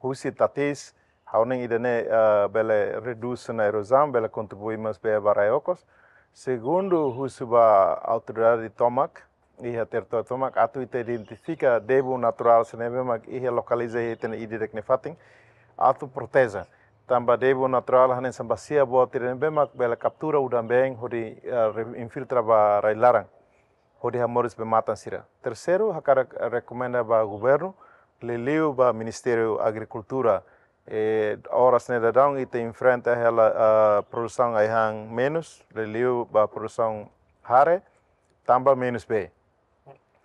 husi tatis, ha'u-nian ida-ne'e, eh, bele redús ona erozaun, bele kontribui mós bee ba rai okos. Segundu, husu ba autoridade tomak, iha territóriu tomak, atu ita identifika debu naturál sira ne'ebé mak iha lokaliza iha ita-nia ida-idak nia fatin, atu proteje. Tanba debu naturál hanesan basia boot sira ne'ebé mak bele kaptura udan-been hodi, eh, re-, infiltra ba rai-laran, hodi hamoris bee-matan sira. Terseiru, hakarak rekomenda ba governu, liuliu ba Ministériu Agrikultura. Eh, oras ne'e daudaun ita enfrenta hela, ah, produsaun ai-han menus, liuliu ba produsaun hare, tanba menus bee.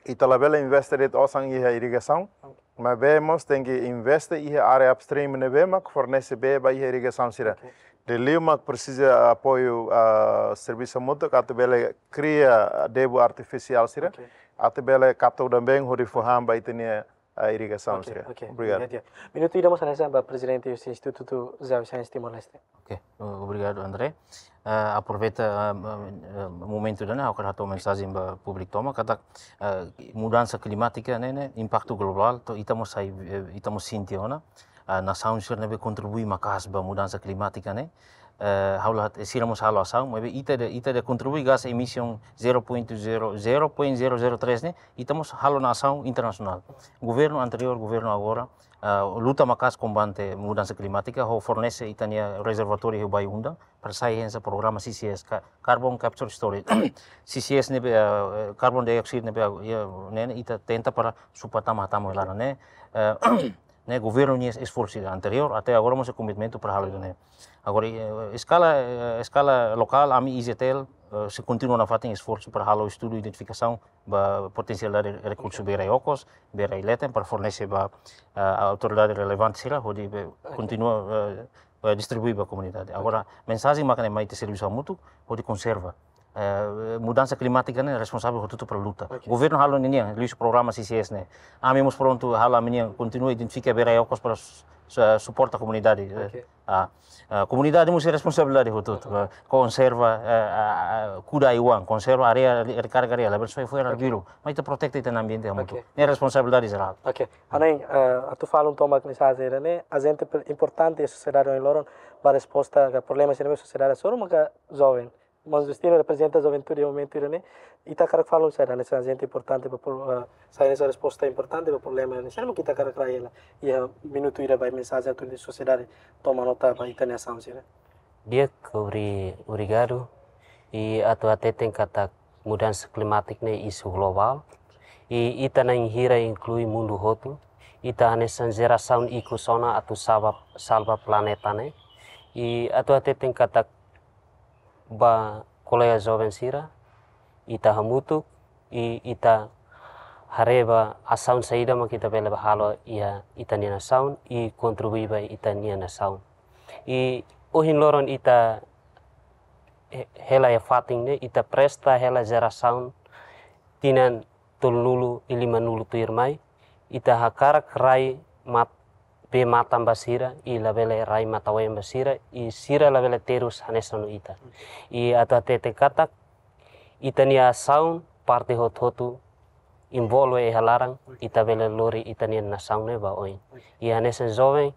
Ita labele investe de'it osan iha irrigasaun, maibé mós tenke investe iha área upstream ne'ebé mak fornese bee ba iha irrigasaun sira. Oke. Liuliu mak presiza apoiu, ah, servisu hamutuk atu bele kria debu artifisiál sira, oke, atu bele kapta udan-been hodi fó han ba ita-nia, ah, irrigasaun sira. Oke, oke. Obrigadu. Obrigadu. Minutu ida mós hanesan ba prezidente husi Institutu Jovens Sains Timor-Leste. Oke, o-, obrigadu, André. Eh, aproveita, eh, eh, momentu ida-ne'e, ha'u hakarak hato'o mensajen ba públiku tomak, katak, eh, mudansa klimátika ne'e, ne'e, impaktu globál, to'o ita mós sai, eh, ita mós sente ona, eh, nasaun sira ne'ebé kontribui maka'as ba mudansa klimátika ne'e, eh, ha'u la hat-, sira mós halo asaun, maibé ita ida, ita ida kontribui gás emissão zero ponto zero, zero ponto zero zero três ne'e, ita mós halo ona asaun internasionál. Governu anteriór, governu agora, ah, luta maka'as kombate mudansa klimátika, ho fornese ita-nia rezervatóriu iha Bayu-Undan, para sai hanesan programa C C S, ka-, Carbon Capture Storage. C C S ne'ebé, ah, eh, carbon dioxide ne'ebé, ah, iha, ne'e, ne'e ita tenta para suporta tama, tama laran ne'e. Eh, ne'e governu nia esforsu anteriór, até agora mós komitmentu para halo ne'e. Agora, eh, eskala, eh, eskala lokál, ami I Z T L, eh, sei kontinua nafatin esforsu para halo estudu identifikasaun ba potensialidade rekursu bee rai okos, bee rai leten, para fornese ba, eh, autoridade relevante sira, hodi bele, oke, kontinua, eh, eh, distribui ba komunidade. Agora, oke, mensajen mak ne'e mai ita servisu hamutuk, hodi konserva. Eh, mudansa klimátika ne'e responsavel hotu-hotu para luta. Oke. Governu halo ninian, liuhusi programa C C S ne'e. Ami mós prontu halo ami-nian, kontinua identifika bee rai okos para su-, su-, suporta komunidade. Eh, oke. Ah, ah, komunidade mós iha responsabilidade hotu-hotu. Oke. Ah, konserva, eh, ah, ah, kuda ai-oan, konserva área re-, rekarga área, labele soe fo'er, oke, arbiru. Maibé ita protege ita-nia ambiente hamutuk. Oke. Ne'e responsabilidade jerál. Oke. Ha'u-nian, eh, atu fali tomak mensajen ne'e, ajente pe-, importante iha sosiedade ohin loron, ba resposta ka problema sira ne'ebé sosiedade hasoru maka joven. Maun Justino reprezenta juventude iha momentu ida-ne'e, ita hakarak fali saida hanesan ajente importante ba pro-, eh, saida hanesan resposta importante ba problema ne'e. Saida mak ita hakarak rai hela iha minutu ida ba mensajen atu nu'udar sosiedade toma nota ba ita-nia asaun sira. Di'ak, obri-, obrigadu. I atu hateten katak mudansa klimátika ne'e isu globál. I ita na'in hira inklui mundu hotu. Ita hanesan jerasaun ikus ona atu salva, salva planeta ne'e. I atu hateten katak ba kolega joven sira, ita hamutuk, i ita haree ba asaun saida mak ita bele ba halo iha ita-nia nasaun, i kontribui ba ita-nia nasaun. I ohin loron ita he-, hela iha fatin ne'e, ita presta hela jerasaun tinan tolunulu i limanulu tuirmai, ita hakarak rai mat-, bee-matan ba sira, i labele rai matan-oan ba sira, i sira labele terus hanesan ita. I atu hateten katak, ita-nia asaun, parte hotu-hotu, envolve iha laran, ita bele lori ita-nia nasaun ne'e ba oin. I hanesan joven,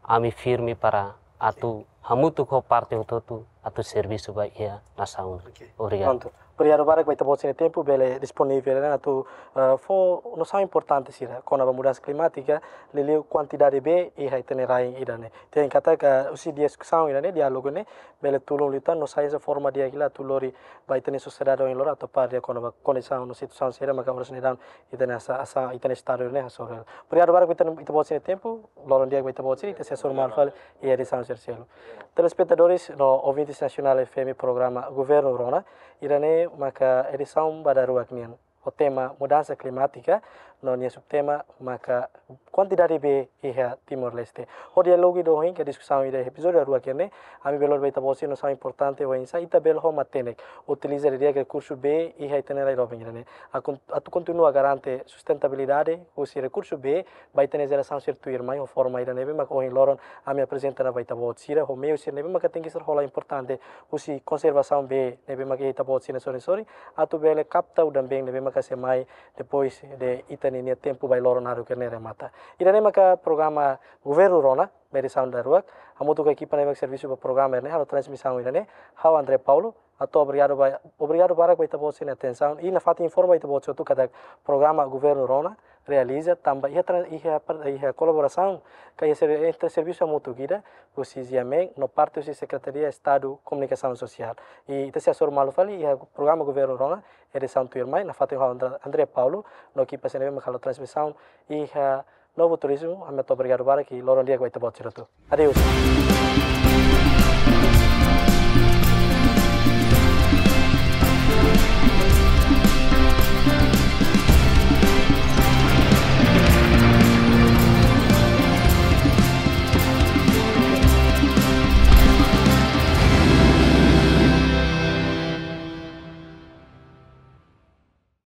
ami firme para atu hamutuk ho parte hotu-hotu atu servisu ba iha nasaun. Oke. Obrigadu. Prontu. Obrigadu barak ba ita-boot sira-nia tempu bele disponivel ne'e atu, eh, fó nosaun importante sira kona-ba mudansa klimátika, liuliu kuantidade bee iha ita-nia rain ida-ne'e. Tenke hatete katak husi diskusaun ida-ne'e, diálogu ne'e bele tulun liután no sai hanesan forma di'ak hela atu lori ba ita-nia sosiedade ohin loron atu aprezenta kona-ba kondisaun no situasaun sira maka oras ne'e daudaun ita-nia asa, asa, ita-nia estadu ne'e hasoru. Obrigadu barak ba ita, ita-boot sira-nia tempu, loron di'ak ba ita-boot sira, ita sei hasoru malu fali iha edisaun sira seluk. Telespetadores no ouvintes Nasionál F M programa Governu Rona, ida-ne'e maka edisaun ba daruak nian ho tema mudansa klimátika, no nia subtema maka kuantidade bee iha Timor-Leste. Ho diálogu ida ohin ka diskusaun ida iha epizódiu daruak ne'e, ami bele lori ba ita-boot sira nosaun importante oinsá ita bele ho matenek utiliza didi'ak rekursu bee iha ita-nia rai doben ida-ne'e. Akon-, atu kontinua garante sustentabilidade husi rekursu bee ba ita-nia jerasaun sira tuirmai ho forma ida ne'ebé maka ohin loron ami aprezenta ona ba ita-boot sira ho meiu sira ne'ebé maka tenke ser hola importante husi konservasaun bee ne'ebé maka ita-boot sira sorin-sorin atu bele kapta udan-been ne'ebé maka sei mai depois de ita-nia tempu bailoron naruk ne'e remata. Ida-ne'e maka programa Governu Rona, edisaun daruak, hamutuk ho ekipa ne'ebé maka servisu ba programa ne'e, halo transmisaun ida-ne'e, ha'u André Paulo, hato'o obrigadu ba, obrigadu barak ba ita-boot sira-nia atensaun, i nafatin informa ita-boot sira hotu katak programa Governu Rona realiza tanba iha tra-, iha par-, iha kolaborasaun ka iha ser-, entre servisu hamutuk ida husi GMN no parte husi Sekretaria Estadu Komunikasaun Sosiál. I ita sei hasoru malu fali iha programa Governu Rona edisaun tuirmai, nafatin ho André, André Paulo, no ekipa sira ne'ebé maka halo transmisaun iha Novo Turismo, ami hato'o obrigadu barak i loron di'ak ba ita-boot sira hotu. Adeus.